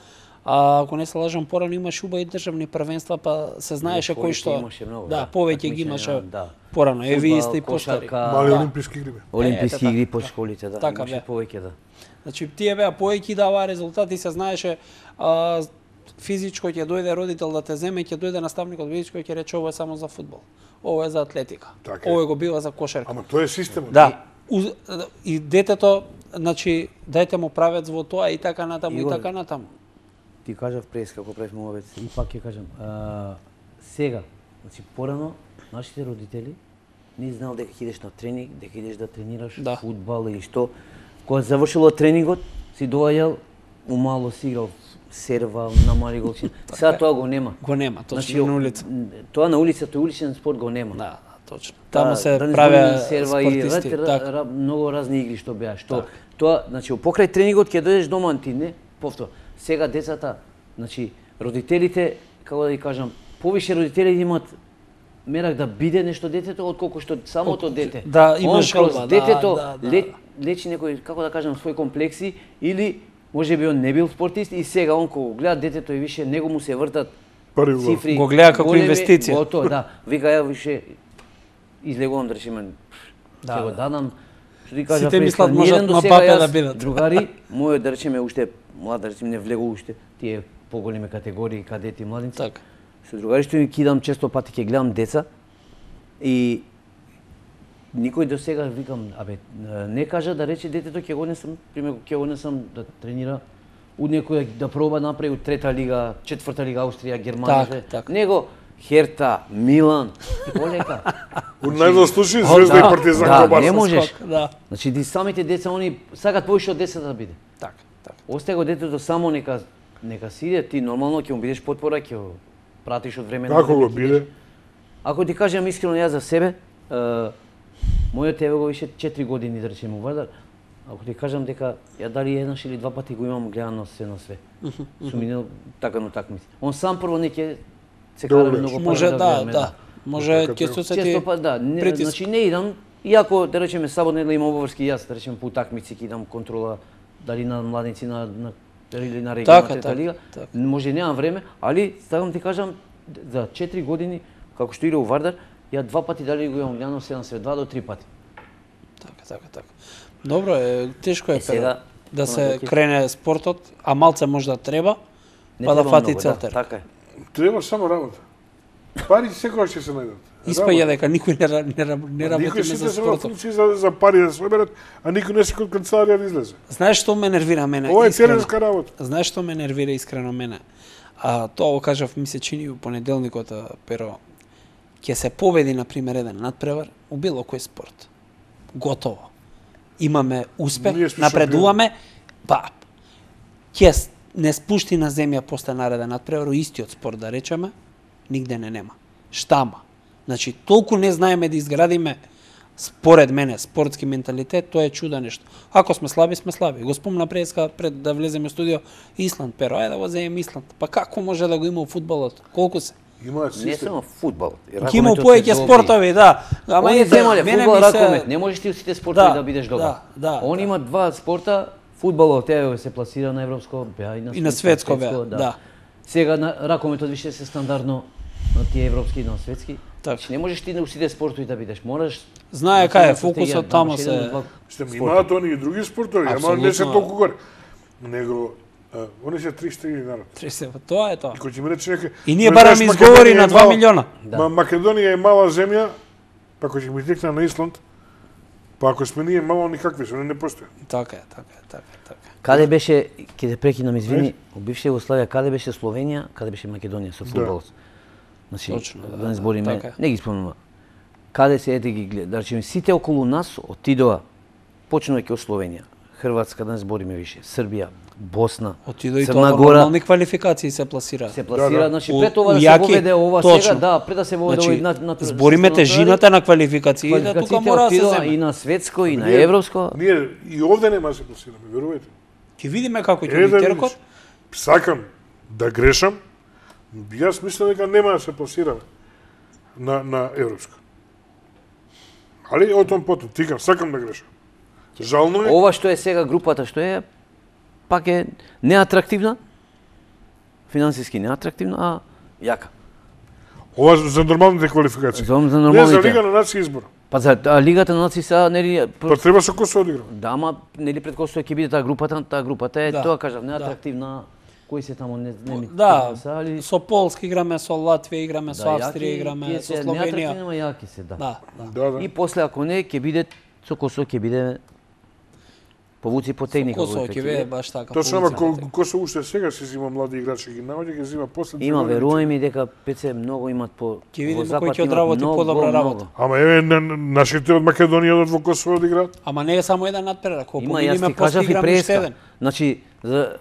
а, ако не се лажам, порано имаше убави државни првенства, па се знаеше кој повеќе што... имаше многу, да, да. повеќе ги Такмичења, имаше да. порано, е вие сте и Фудбал, постари. кошарка, Мали да. олимписки игри бе. Олимписки Е, игри така, по да. школите, да. Така Имаше бе. повеќе, да. Значи, тие беа повеќе даваа резултати, се знаеше а, физичко ќе дојде родител да те земе, ќе дојде наставникот физичко и ќе рече ова е само за фудбал. Ова е за атлетика. Така е. Ова го бива за кошарка. Ама тоа е системот. Да. Уз- И детето, значи, дајте му правец во тоа и така натаму и Игор, така натаму. Ти кажав прес како правиме мовец и пак ќе кажам, а, сега, значи порано нашите родители не знаел дека ќе идеш на тренинг, дека идеш да тренираш Да. фудбал или што. Кога завршило тренингот, си доаѓал, умало си играл серва на мали голчина. Сега тоа го нема. Го нема, точно Значи, на улица. м, Тоа на улица, тој уличен спорт го нема. Да, да, точно. Таму Да, се да не правеа зборуваме серва и спортисти. рад- Така. ра- многу разни игри што беа, што Така. тоа, значи покрај тренингот ќе дојдеш дома ти не, повтор. Сега децата, значи родителите, како да ги кажам, повише родители имаат мерак да биде нешто детето отколку што самото дете. да, има Он желба, кроз да, детето да, да. ле- лечи некој, како да кажам, свој комплекси или може би он не бил спортист и сега он кога го гледа детето и више него му се вртат Први гол. цифри. Го гледа како големи, инвестиција. Готово, да. Вика ја више излегувам да речеме Да, ќе го да. дадам. Што ти кажа Сите пред мислат тоа, можат ниеден до на сега папе јас, да бидат. Другари, мојот да речеме уште млад, да речеме не влегу уште тие поголеми категории кадети младинци. Така. Со другари што ги кидам често пати ќе гледам деца и никој до сега викам, абе, не кажа да рече детето ќе го несам, пример ќе го несам да тренира у некој да проба направи у трета лига, четврта лига Австрија, Германија, Так, так. него Херта, Милан, полека. У најдол случај Звезда и Партизан да, го Барса. не можеш. Скок, да. Значи, ди самите деца, они сакат повеќе од десет да биде. Така, така. Остај го детето само нека нека си иде, ти нормално ќе му бидеш потпора, ќе го пратиш од време на Како време, го ќе биде? идеш. Ако ти кажам искрено јас за себе, е, мојот еве го више четири години да речеме у Вардар. Ако ти кажам дека ја дали еднаш или два пати го имам гледано се на све. Сум минал така на такмици. Он сам прво не ќе се Добре. кара многу Може пара да, гледаме, да. Може Така, ќе така. се сети. Често па да, не, притиск. значи не идам, иако да речеме сабота недела имам обврски јас, да речеме по такмици ќе идам контрола дали на младинци на на или на регионалната Така, така, лига. така. Може немам време, али сакам ти кажам за четири години како што иде у Вардар, ја два пати дали го имам гледано седам се два до три пати. Така, така, така. Добро е, тешко е, Е, сега, сега, да се ќе- крене спортот, а малце може да треба, Не па да треба фати многу, целта. Да, така е. Треба само работа. Пари секогаш ќе се најдат. Испаѓа дека никој не, ра- не, ра- не работи Никој за сите се во спортот. функција за, за пари да се оберат, а никој не се код канцеларија да излезе. Знаеш што ме нервира мене? Ова е искрено? теренска работа. Знаеш што ме нервира искрено мене? А тоа го кажав, ми се чини у понеделникот, а, pero ќе се победи на пример еден надпревар у било кој спорт. Готово. Имаме успех, Ние сме напредуваме, па ќе с- не спушти на земја после нареден надпревар у истиот спорт да речеме, нигде не нема. Штама. Значи толку не знаеме да изградиме според мене спортски менталитет, тоа е чудо нешто. Ако сме слаби, сме слаби. Го спомна преска пред да влеземе во студио Исланд, pero ајде да го земеме Исланд. Па како може да го има у фудбалот? Колку се? Имаат Не систем. само фудбал. Ќе има поеќе спортови, да. Ама Они ете, земале мене фудбал, ми се- ракомет. Не можеш ти у сите спортови Да, да бидеш добар. да, да, Он да. има два спорта, фудбалот еве се пласира на европско, беа и на И на светско беа, да. да. Сега на ракометот више се стандардно на тие европски и на светски. Така. Значи не можеш ти на сите спортови да бидеш. Мораш Знае да кај е си имаш фокусот, стратегија, тамо имаш еден се- од два Што спорта. имаат они и други спортови, ама не се Апсолутно. толку горе. Него а, они се три четири народ. Тресе, тоа е тоа. И кој ќе ми рече некој И ние ме бараме знаеш, изговори Македонија на е два мала- милиона. Да. Ма Македонија е мала земја, па кој ќе ми текне на Исланд, па ако сме ние мало никакви, се, они не постојат. Така е, така е, така е, така е. Каде беше, ќе те прекинам, извини, у бивша Југославија, каде беше Словенија, каде беше Македонија со фудбалот? Значи, Точно, да да, не збориме, така е. не ги спомнувам. Каде се ете ги гледа, да речеме, сите околу нас отидоа, почнувајќи од Словенија, Хрватска, да не збориме више, Србија, Босна, Отидо и Црна тоа Гора, нормални квалификации се пласира. се пласира, Да, да. значи У- пред това у да се јаки, воведе ова точно. сега, да, пред да се воведе Значи, овој на, на збориме тежината на квалификациите, тука квалификациите мора да се отидоа и земе. на светско и на Ние- европско. Ние и овде нема да се пласираме, верувајте. Ќе видиме како ќе Е, биде да теркот. видиш. Сакам да грешам, јас мислам дека нема да се пласираме на, на европско. Али о том потом, тикам, сакам да грешам. Жално е, Ова што е сега групата што е, пак е неатрактивна, финансиски неатрактивна, а јака. ова за нормалните квалификации. За, за Не нормалните. за Лига на нации избор. Па за а, Лигата на нации са нели Па треба со кој се одигра. да, ама нели пред Косово ќе биде таа групата, таа групата е Да, тоа кажав, неатрактивна. Кои се таму не не ми Да, са, али со Полска играме, со Латвија играме, со да, Австрија јаки, играме, тие со се неатрактивни, Словенија. ама јаки се, да. Да, да. Да, да. И после ако не ќе биде со Косово ќе биде повуци по техника. Косово кој ќе биде баш така. Точно, ама повици. ко, ко се уште сега се зима млади играчи ги наоѓа, ги зима после. Има, верувај ми дека ПЦ многу имат по Ќе видиме во запад кој ќе имат одработи многу, подобра многу. работа. Ама еве на- на- нашите од Македонија одат во Косово да играат. Ама не е само еден надпревар, ако Има, јас победиме ти после кажав и играме уште преска. еден. Значи, за,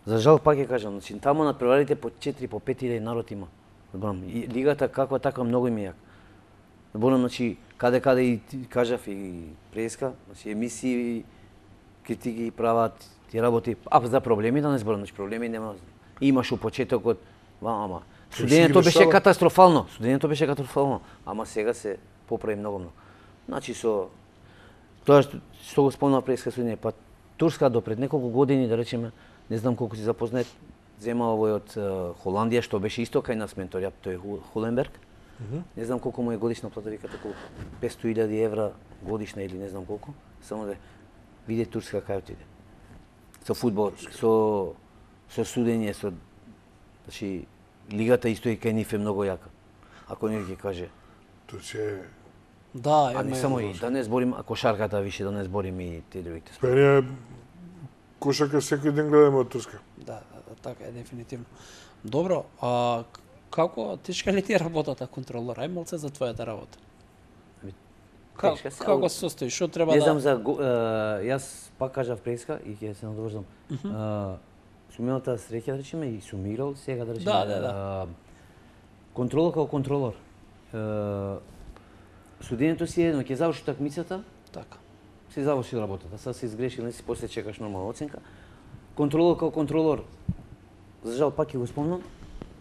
за жал пак ќе кажам, значи, таму на преварите по четири, по пет илјади народ има. Зборам, и лигата каква така многу им е јака. Зборам, значи, каде каде и ти кажав и преска, значи емисии критики прават, ти работи, а за проблеми да не зборам, значи проблеми нема. Имаш у почетокот, ва, ама Се студењето ги беше решава. катастрофално, студењето беше катастрофално, ама сега се поправи многу многу. Значи со тоа што, што го спомнува преска студење, па Турска до пред неколку години, да речеме, не знам колку си запознат, зема овој од е, Холандија, што беше исто кај нас ментор, ја, тој е Ху- Хуленберг. Не знам колку му е годишна плата, викате колку петстотини илјади евра годишна или не знам колку, само да види Турска кај отиде. Со фудбал, со со судење, со значи лигата исто и кај нив е многу јака. Ако не ќе каже, Тоа ќе Да, а не еме, само и да не зборим, а кошарката више да не зборим и те другите. Па ние Кошарка секој ден гледаме од Турска. Да, да, да, така е дефинитивно. Добро, а како тешка ли ти е работата контролор? Ај малце за твојата работа. Как, Тешка се, како али- се состои? Што треба Не да... знам за го- е, јас пак кажав преска и ќе се надоврзам. Е, Сум имал таа среќа да речеме и сум играл сега да речеме. Да, да, да. е, Контролор како контролор. Е, Судењето си е едно, ќе заврши такмицата, Така. си заврши работата. Сега си изгрешил, не си после чекаш нормална оценка. Контролор како контролор, за жал пак ќе го спомнам.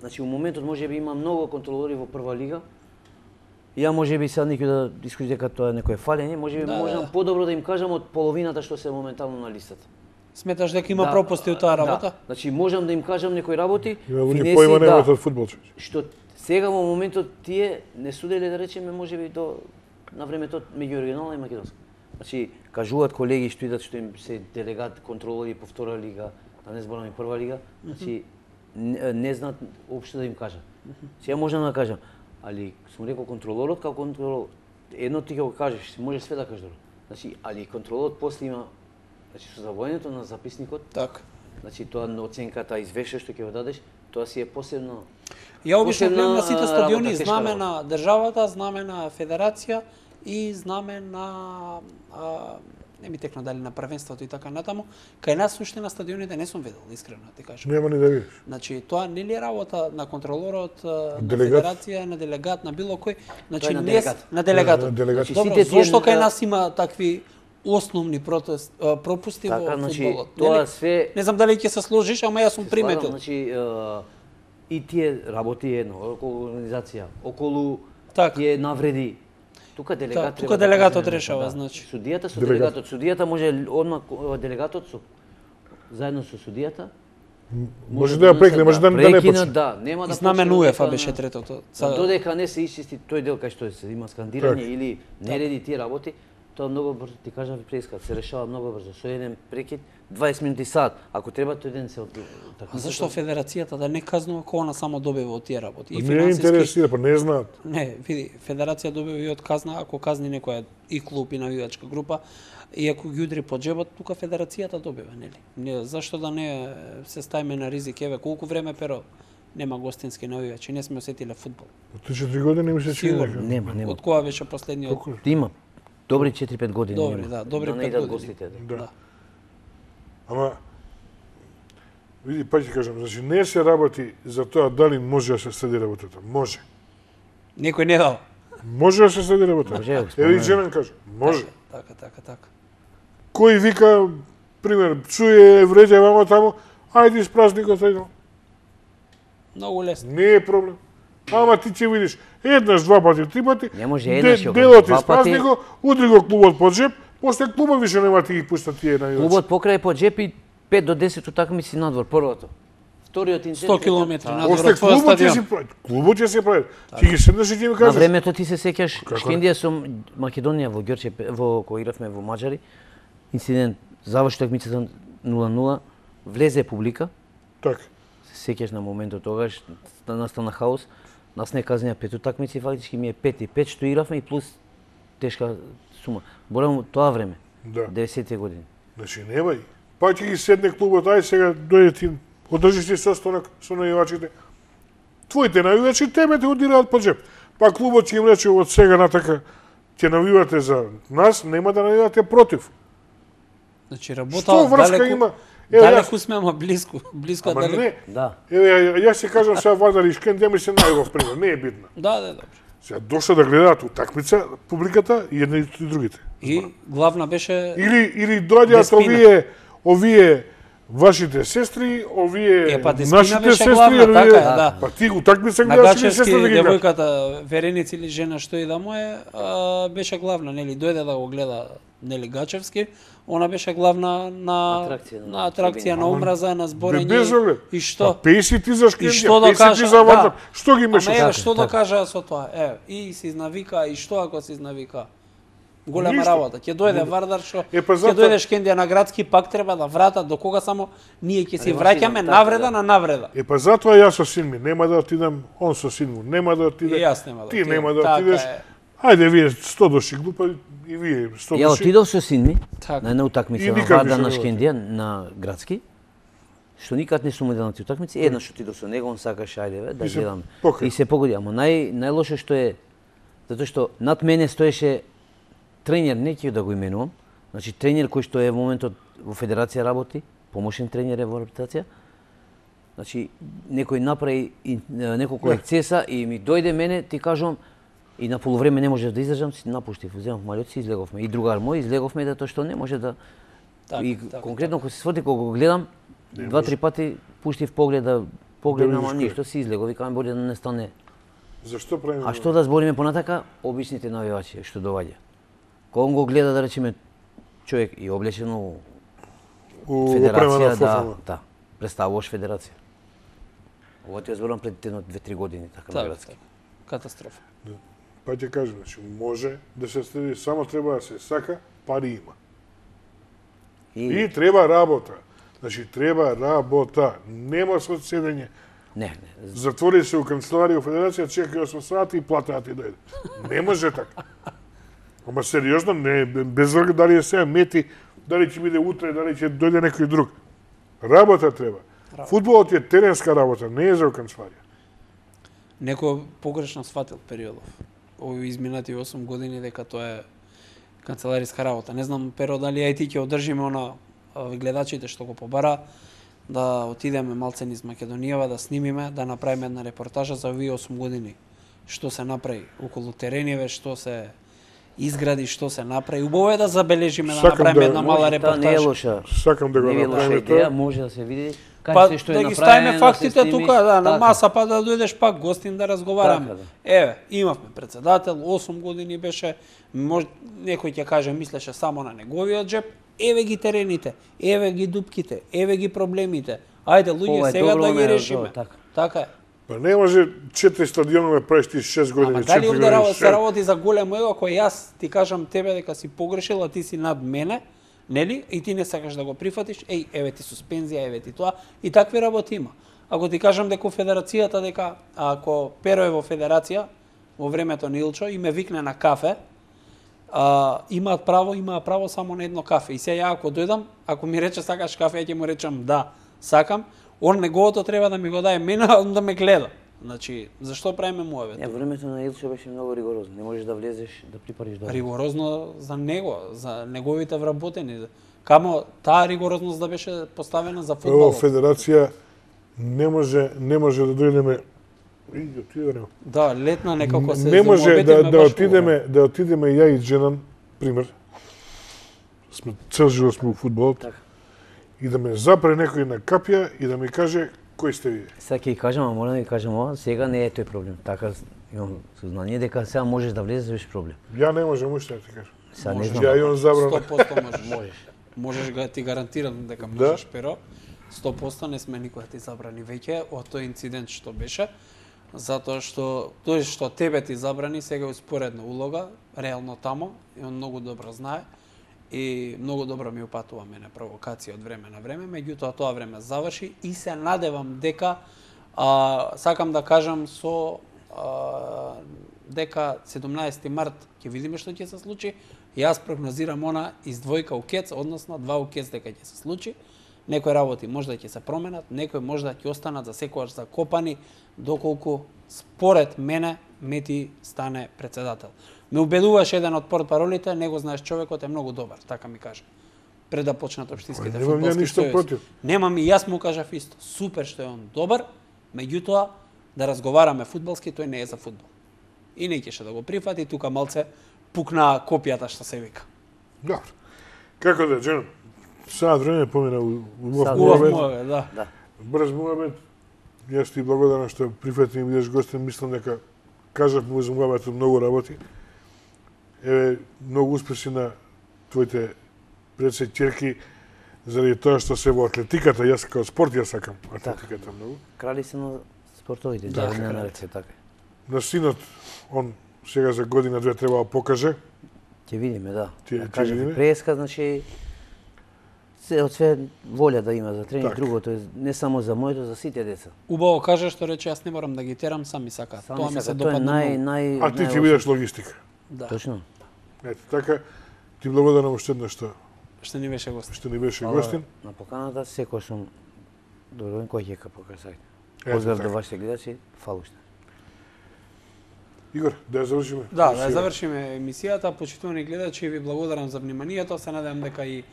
Значи, у моментот може би има многу контролори во прва лига. Ја може би сега некој да искуси дека тоа е некое фалење, може би Да, можам да. подобро да им кажам од половината што се моментално на листата. Сметаш дека има Да, пропусти од таа работа? Да. Значи можам да им кажам некои работи, Има луѓе финеси, поима да, немаат од фудбал. човече. што сега во моментот тие не суделе да речеме можеби до на времето меѓу оригинална и македонска. Значи кажуваат колеги што идат што им се делегат контролори по втора лига, да не зборам и прва лига, значи не, не знаат општо да им кажат. Сега можам да кажам, али сум рекол контролорот како контролор, едно ти ќе го кажеш, може све да кажеш добро. Значи, али контролорот после има, значи со завојањето на записникот, Така. значи тоа на оценката извештај што ќе го дадеш, тоа си е посебно. Ја обично Посебна, гледам на сите а, стадиони работа, тешка знаме работа. на државата, знаме на федерација и знаме на а, не ми текна дали на првенството и така натаму. Кај нас уште на стадионите не сум видел, искрено ти кажам. Нема ни да видиш. Значи тоа не ли е работа на контролорот, а, на Делегат? федерација, на делегат, на било кој? Значи Тоа е на не делегат. на делегатот. На делегат. Значи, Добро, сите тие зошто кај на- нас има такви основни протест, а, пропусти Така, во значи, фудбалот? тоа Нели? све- Не знам дали ќе се сложиш, ама јас сум Се приметил. слагам, значи, е, и тие работи едно, околу организација, околу Така. тие навреди. Тука делегат Така, треба тука да делегатот кажеме, решава, да. значи. Судијата со Делегат. делегатот. Судијата може одма делегатот со заедно со судијата. Може да ја прекне, може да, да не прекинат, почне. да, нема да Знамен почне УЕФА дека- беше третото. За додека не се исчисти тој дел кај што се има скандирање Така. или нереди тие работи, тоа многу брзо ти кажав преска, се решава многу брзо. Со еден прекид дваесет минути сат, ако треба тој ден се од така. А зашто федерацијата да не казнува кога она само добива од тие работи? И Не финансиски. интересира, па не знаат. Не, види, федерација добива и од казна ако казни некоја и клуб и навивачка група, и ако ги удри по џебот, тука федерацијата добива, нели? Не, зашто да не се ставиме на ризик? Еве, колку време перо нема гостински навивачи, не сме осетиле фудбал. Од три четири години ми се чини Сигурно. дека. Нема, нема. Од кога беше последниот? Колку? Има добри четири-пет години. Добри, има. да, добри да не пет идат години. гостите. Да. Да. Ама, види, па ќе кажам, значи не се работи за тоа дали може да се следи работата. Може. Некој не дал. Може да се следи работата. Може, ја го Еве и споменам. Женан кажа, може. Така, така, така. Кој вика, пример, чуе, вреđа вамо таму, ајде испразни го тој. Многу лесно. Не е проблем. Ама ти ќе видиш еднаш, два пати, три пати, Не може де- еднаш, ја делот два испразни пати. го, удри го клубот под джеп, после клуба више нема ти ги пуштат тие на Клубот покрај по джепи пет до десет утакмици надвор првото. Вториот инцидент сто километри дека- надвор После од твојот клубот ќе стадион. си прави. Клубот ќе се прави. Ти ги седнеш и ќе ми На кажеш. времето ти се сеќаш Како? Шкендија со Македонија во Ѓорче во кога игравме во Маđари. Инцидент заврши такмицата нула нула, влезе публика, Така. се сеќаш на моментот тогаш да настана хаос. Нас не казнија пет утакмици, фактички ми е пет и пет што игравме и плюс тешка сума. Борам тоа време, Да. деветдесетте години. Значи нема и. Па ќе ги седне клубот, ај сега дојде ти, одржиш ти состанок со навивачите. Твоите навивачи тебе те удираат по джеп. Па клубот ќе им рече од сега натака ќе навивате за нас, нема да навивате против. Значи работа Што врска далеку, има? Еве далеку јас, сме, ама близко, близко ама далеку. не. Да. Еве ја- јас ќе кажам сега Вардар и Шкендија ми се најубав пример, не е битно. Да, да, добро. Сега дошла да гледаат утакмица публиката и едни и другите. И главна беше Или или доаѓаат Деспина. овие овие вашите сестри, овие Е, па Деспина нашите беше сестри, главна, овие... така е, да. Па ти утакмица на гледаш или Гачевски сестра да ги гледаш? девојката Вереница или жена што и да му е, а, беше главна, нели, дојде да го гледа нели Гачевски, она беше главна на Атракција, на атракција на омраза, на Бе, зборење без оглед. и што. Па песи ти за И Шкендија, што да песи кажа, ти за Вардар. да. Што ги Ама мешаш? еве Така, што да така. кажа со тоа? Еве, и се изнавика и што ако се изнавика? Голема Ништо. работа. Ќе дојде Вардар што Е, па ќе затоа- дојде Шкендија на градски, пак треба да врата до кога само ние ќе се Али, враќаме така, навреда да. на навреда. Е па затоа јас со син ми нема да отидам, он со син му нема да И отиде. јас нема да Ти отидам. нема да Така отидеш. е. Ајде, вие сто души глупа и вие сто Ја души. отидов со син ми Така. на една утакмица И на никак Вардар не на се Шкендија на градски. Што никад не сум одел на тие утакмици, еднаш отидов со него, он сакаше ајде бе, да И се гледаме. покри. И се погоди, ама нај најлошо што е затоа што над мене стоеше тренер, не ќе да го именувам. Значи тренер кој што е во моментот во федерација работи, помошен тренер е во реабилитација. Значи некој направи и, неколку Не. ексцеса и ми дојде мене, ти кажувам, и на полувреме не можев да издржам, си напуштив, земав малјот си излеговме. И другар мој излеговме да тоа што не може да Така, и така, конкретно кога се сфоти кога го гледам, Не два-три пати пуштив поглед да погледам, Да ама видиш кој е. ништо си излегов, викам боле да не стане. Зашто правиме? А што да збориме понатака, обичните навивачи што доаѓа. Кога он го гледа да речеме човек и облечен у у опрема федерација, на да, фофама? да, представуваш федерација. Ова ти ја зборам пред едно две-три години, така на така, градски. така. Катастрофа. Па ќе кажам, значи може да се следи, само треба да се сака, пари има. И, И треба работа. Значи треба работа, нема со седење. не, не, Затвори се у канцеларија у федерација, чекај осум сати и плата ти дојде. Не може така. Ама сериозно, не, без врга дали е сега мети, дали ќе биде утре, дали ќе дојде некој друг. Работа треба. Работа. Фудбалот е теренска работа, не е за у канцеларија. Некој погрешно сватил периодов. Овие изминати осум години дека тоа е канцелариска работа. Не знам, Перо, дали ја и ти ќе одржиме она а, гледачите што го побара, да отидеме малце низ Македонијава, да снимиме, да направиме една репортажа за овие осум години. Што се направи околу терениве, што се изгради, што се направи. Убаво е да забележиме, да Сакам направиме да- една мала може, таа не е репортажа. лоша. Сакам да го Не е лоша направиме идеја, тоа. може да се види Па кај се што е да ги направено, ставиме да се фактите сними. тука, да, на Така. маса, па да дојдеш пак гостин да разговараме. Така, да. Еве, имавме председател, осум години беше, мож, некој ќе каже мислеше само на неговиот джеп, еве ги терените, еве ги дупките, еве ги проблемите. Ајде Ова луѓе е сега добро, да ги не е решиме. добро, така. Така е. Па не може четири стадионове правиш ти шест години, Ама дали четири овде работа години. се работи за големо его, кој јас ти кажам тебе дека си погрешил, а ти си над мене, нели? И ти не сакаш да го прифатиш, еј, еве ти суспензија, еве ти тоа, и такви работи има. Ако ти кажам дека у федерацијата, дека ако Перо е во федерација, во времето на Илчо, и ме викне на кафе, а, имаат право, имаа право само на едно кафе. И се ја ако дојдам, ако ми рече сакаш кафе, ја ќе му речам да, сакам, он неговото треба да ми го даде мене, а он да ме гледа. Значи, зашто правиме муавет? Не, времето на Илчо беше многу ригорозно. Не можеш да влезеш, да припариш до. Ригорозно за него, за неговите вработени. Камо таа ригорозност да беше поставена за Во фудбалот. федерација не може не може да дојдеме и отидеме. Да, летна некако се Не може да замобетивме да баш отидеме да отидеме ја и Дженан, пример. Сме цел живот сме у фудбалот. Така. И да ме запре некој на капја и да ми каже кој сте вие. Сега ќе ги кажам, а морам да ви кажам ова, сега не е тој проблем. Така имам сознание дека сега можеш да влезеш без проблем. Ја не можам уште да ти кажам. Сега не Можеш. знам. Ја имам забрана. сто проценти можеш. Можеш. Можеш га ти гарантирам дека Да. можеш, Перо. сто проценти не сме никој да ти забрани веќе од тој инцидент што беше, затоа што тој што тебе ти забрани сега е успоредна улога, реално тамо, и он многу добро знае и многу добро ми упатува мене провокација од време на време, меѓутоа тоа време заврши и се надевам дека а, сакам да кажам со а, дека седумнаесети март ќе видиме што ќе се случи. Јас прогнозирам она издвојка у кец, односно два у кец дека ќе се случи. Некои работи можда ќе се променат, некои можда ќе останат за секојаш закопани, доколку според мене Мети стане председател. Ме убедуваше еден од портпаролите, него знаеш човекот е многу добар, така ми кажа. Пред да почнат општинските Па, немам ја фудбалски ништо сојузи. против. Немам и јас му кажав исто. Супер што е он добар, меѓутоа да разговараме фудбалски, тој не е за фудбал. И не ќе да го прифати, тука малце пукна копијата што се вика. Добро. Како да, Дженан? Саат време помина у убав Саат Убав муабет. муавет, да. Да. Брз муабет. Јас ти благодарам што прифати ми бидеш гостин. Мислам дека кажав му за муабетот многу работи. Еве, многу успеси на твоите предсе ќерки заради тоа што се во атлетиката. Јас како спорт ја сакам атлетиката многу. Крали се на спортовите, Да, да, не кралите. на рече така. На синот, он сега за година две треба да покаже. Ќе видиме, да. Ќе- Да ќе кажам, видиме. преска, значи се од све волја да има за тренинг, Така. другото е не само за моето, за сите деца. Убаво кажа што рече, јас не морам да ги терам, сами сакаат. Сами Тоа ми се сака, тоа е допадна нај многу. нај А ти ќе најлошо. бидеш логистика. Да. Точно. Ете, така, ти благодарам уште еднаш што Што ни беше гост. што ни беше Фала гостин. на поканата, секој сум доброволен кој ќе покажа сајт. Ето Поздрав така. до вашите гледачи, фала уште. Игор, да ја завршиме. Да, да ја завршиме емисијата. Почитувани гледачи, ви благодарам за вниманието. Се надевам дека и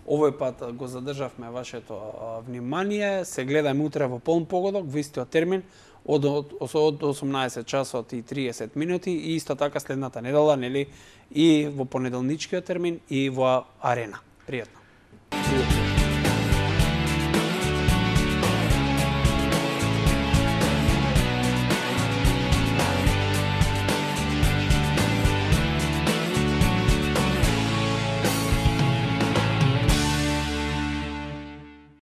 овој пат го задржавме вашето а, внимание. Се гледаме утре во полн погодок, во истиот термин, од, од, од осумнаесет часот и триесет минути, и исто така следната недела, нели, и во понеделничкиот термин, и во Арена. Пријатно. Пријатно.